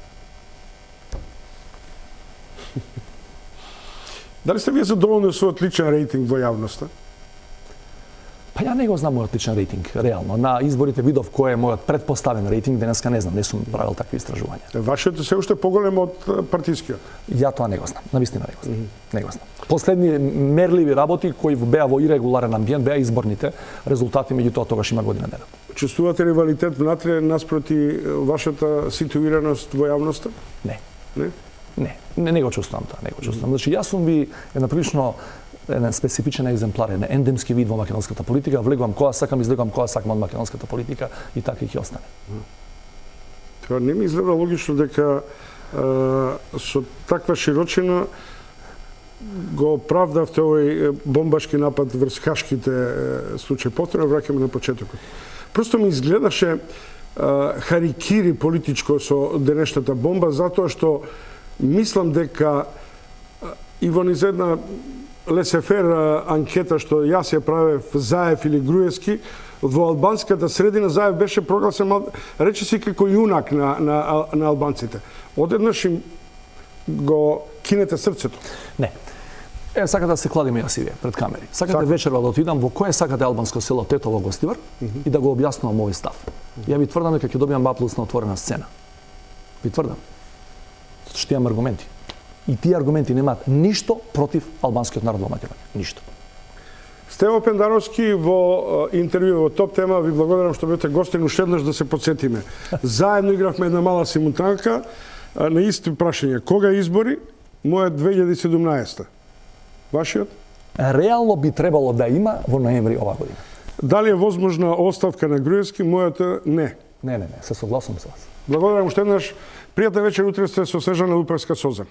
Дали сте вие задоволни со отличен рейтинг во јавноста? Па ја не го знам мојот личен рейтинг, реално. На изборите видов кој е мојот предпоставен рейтинг, денеска не знам, не сум правил такви истражувања. Вашиот е се уште поголем од партискиот. Ја тоа не го знам, навистина не го знам. Не го знам. Последни мерливи работи кои беа во ирегуларен амбиент беа изборните резултати, меѓутоа тогаш има година дена. Чувствувате ривалитет внатре наспроти вашата ситуираност во јавноста? Не. Не? Не го чувствувам тоа, не го чувствувам. Значи јас сум ви една прилично еден специфичен екземплар, еден ендемски вид во македонската политика, влегувам кога сакам, излегувам кога сакам од македонската политика и така ќе остане. Тоа не ми изгледа логично дека со таква широчина го оправдавте овој бомбашки напад врз хашките случаи. Повторно враќаме на почетокот. Просто ми изгледаше харикири политичко со денешната бомба, затоа што мислам дека и во низ една лесефер анкета што јас ја правев Заев или Груевски, во албанската средина Заев беше прогласен речиси како јунак на албанците. Одеднаш им го кинете срцето. Не. Сакате да се кладиме јас и вие пред камери. Сакате вечерва да отидам во кое сакате албанско село Тетово Гостивар и да го објаснувам овој став. Ја ви тврдам дека ќе добиам баплус на отворена сцена. Ви тврдам. Затоа што имам аргументи. И тие аргументи немаат ништо против албанскиот народ во Македонија. Ништо. Стево Пендаровски во интервју во Топ Тема ви благодарам што бевте гостин уште еднаш да се потсетиме. Заедно игравме една мала симултанка на исти прашања. Кога избори? Мојот 2017. Вашиот? Реално би требало да има во ноември ова година. Дали е возможна оставка на Груевски? Мојата не. Не, се согласувам со вас. Благодарам уште еднаш. Пријатна вечер, утре сте со Снежана Луперска Созан.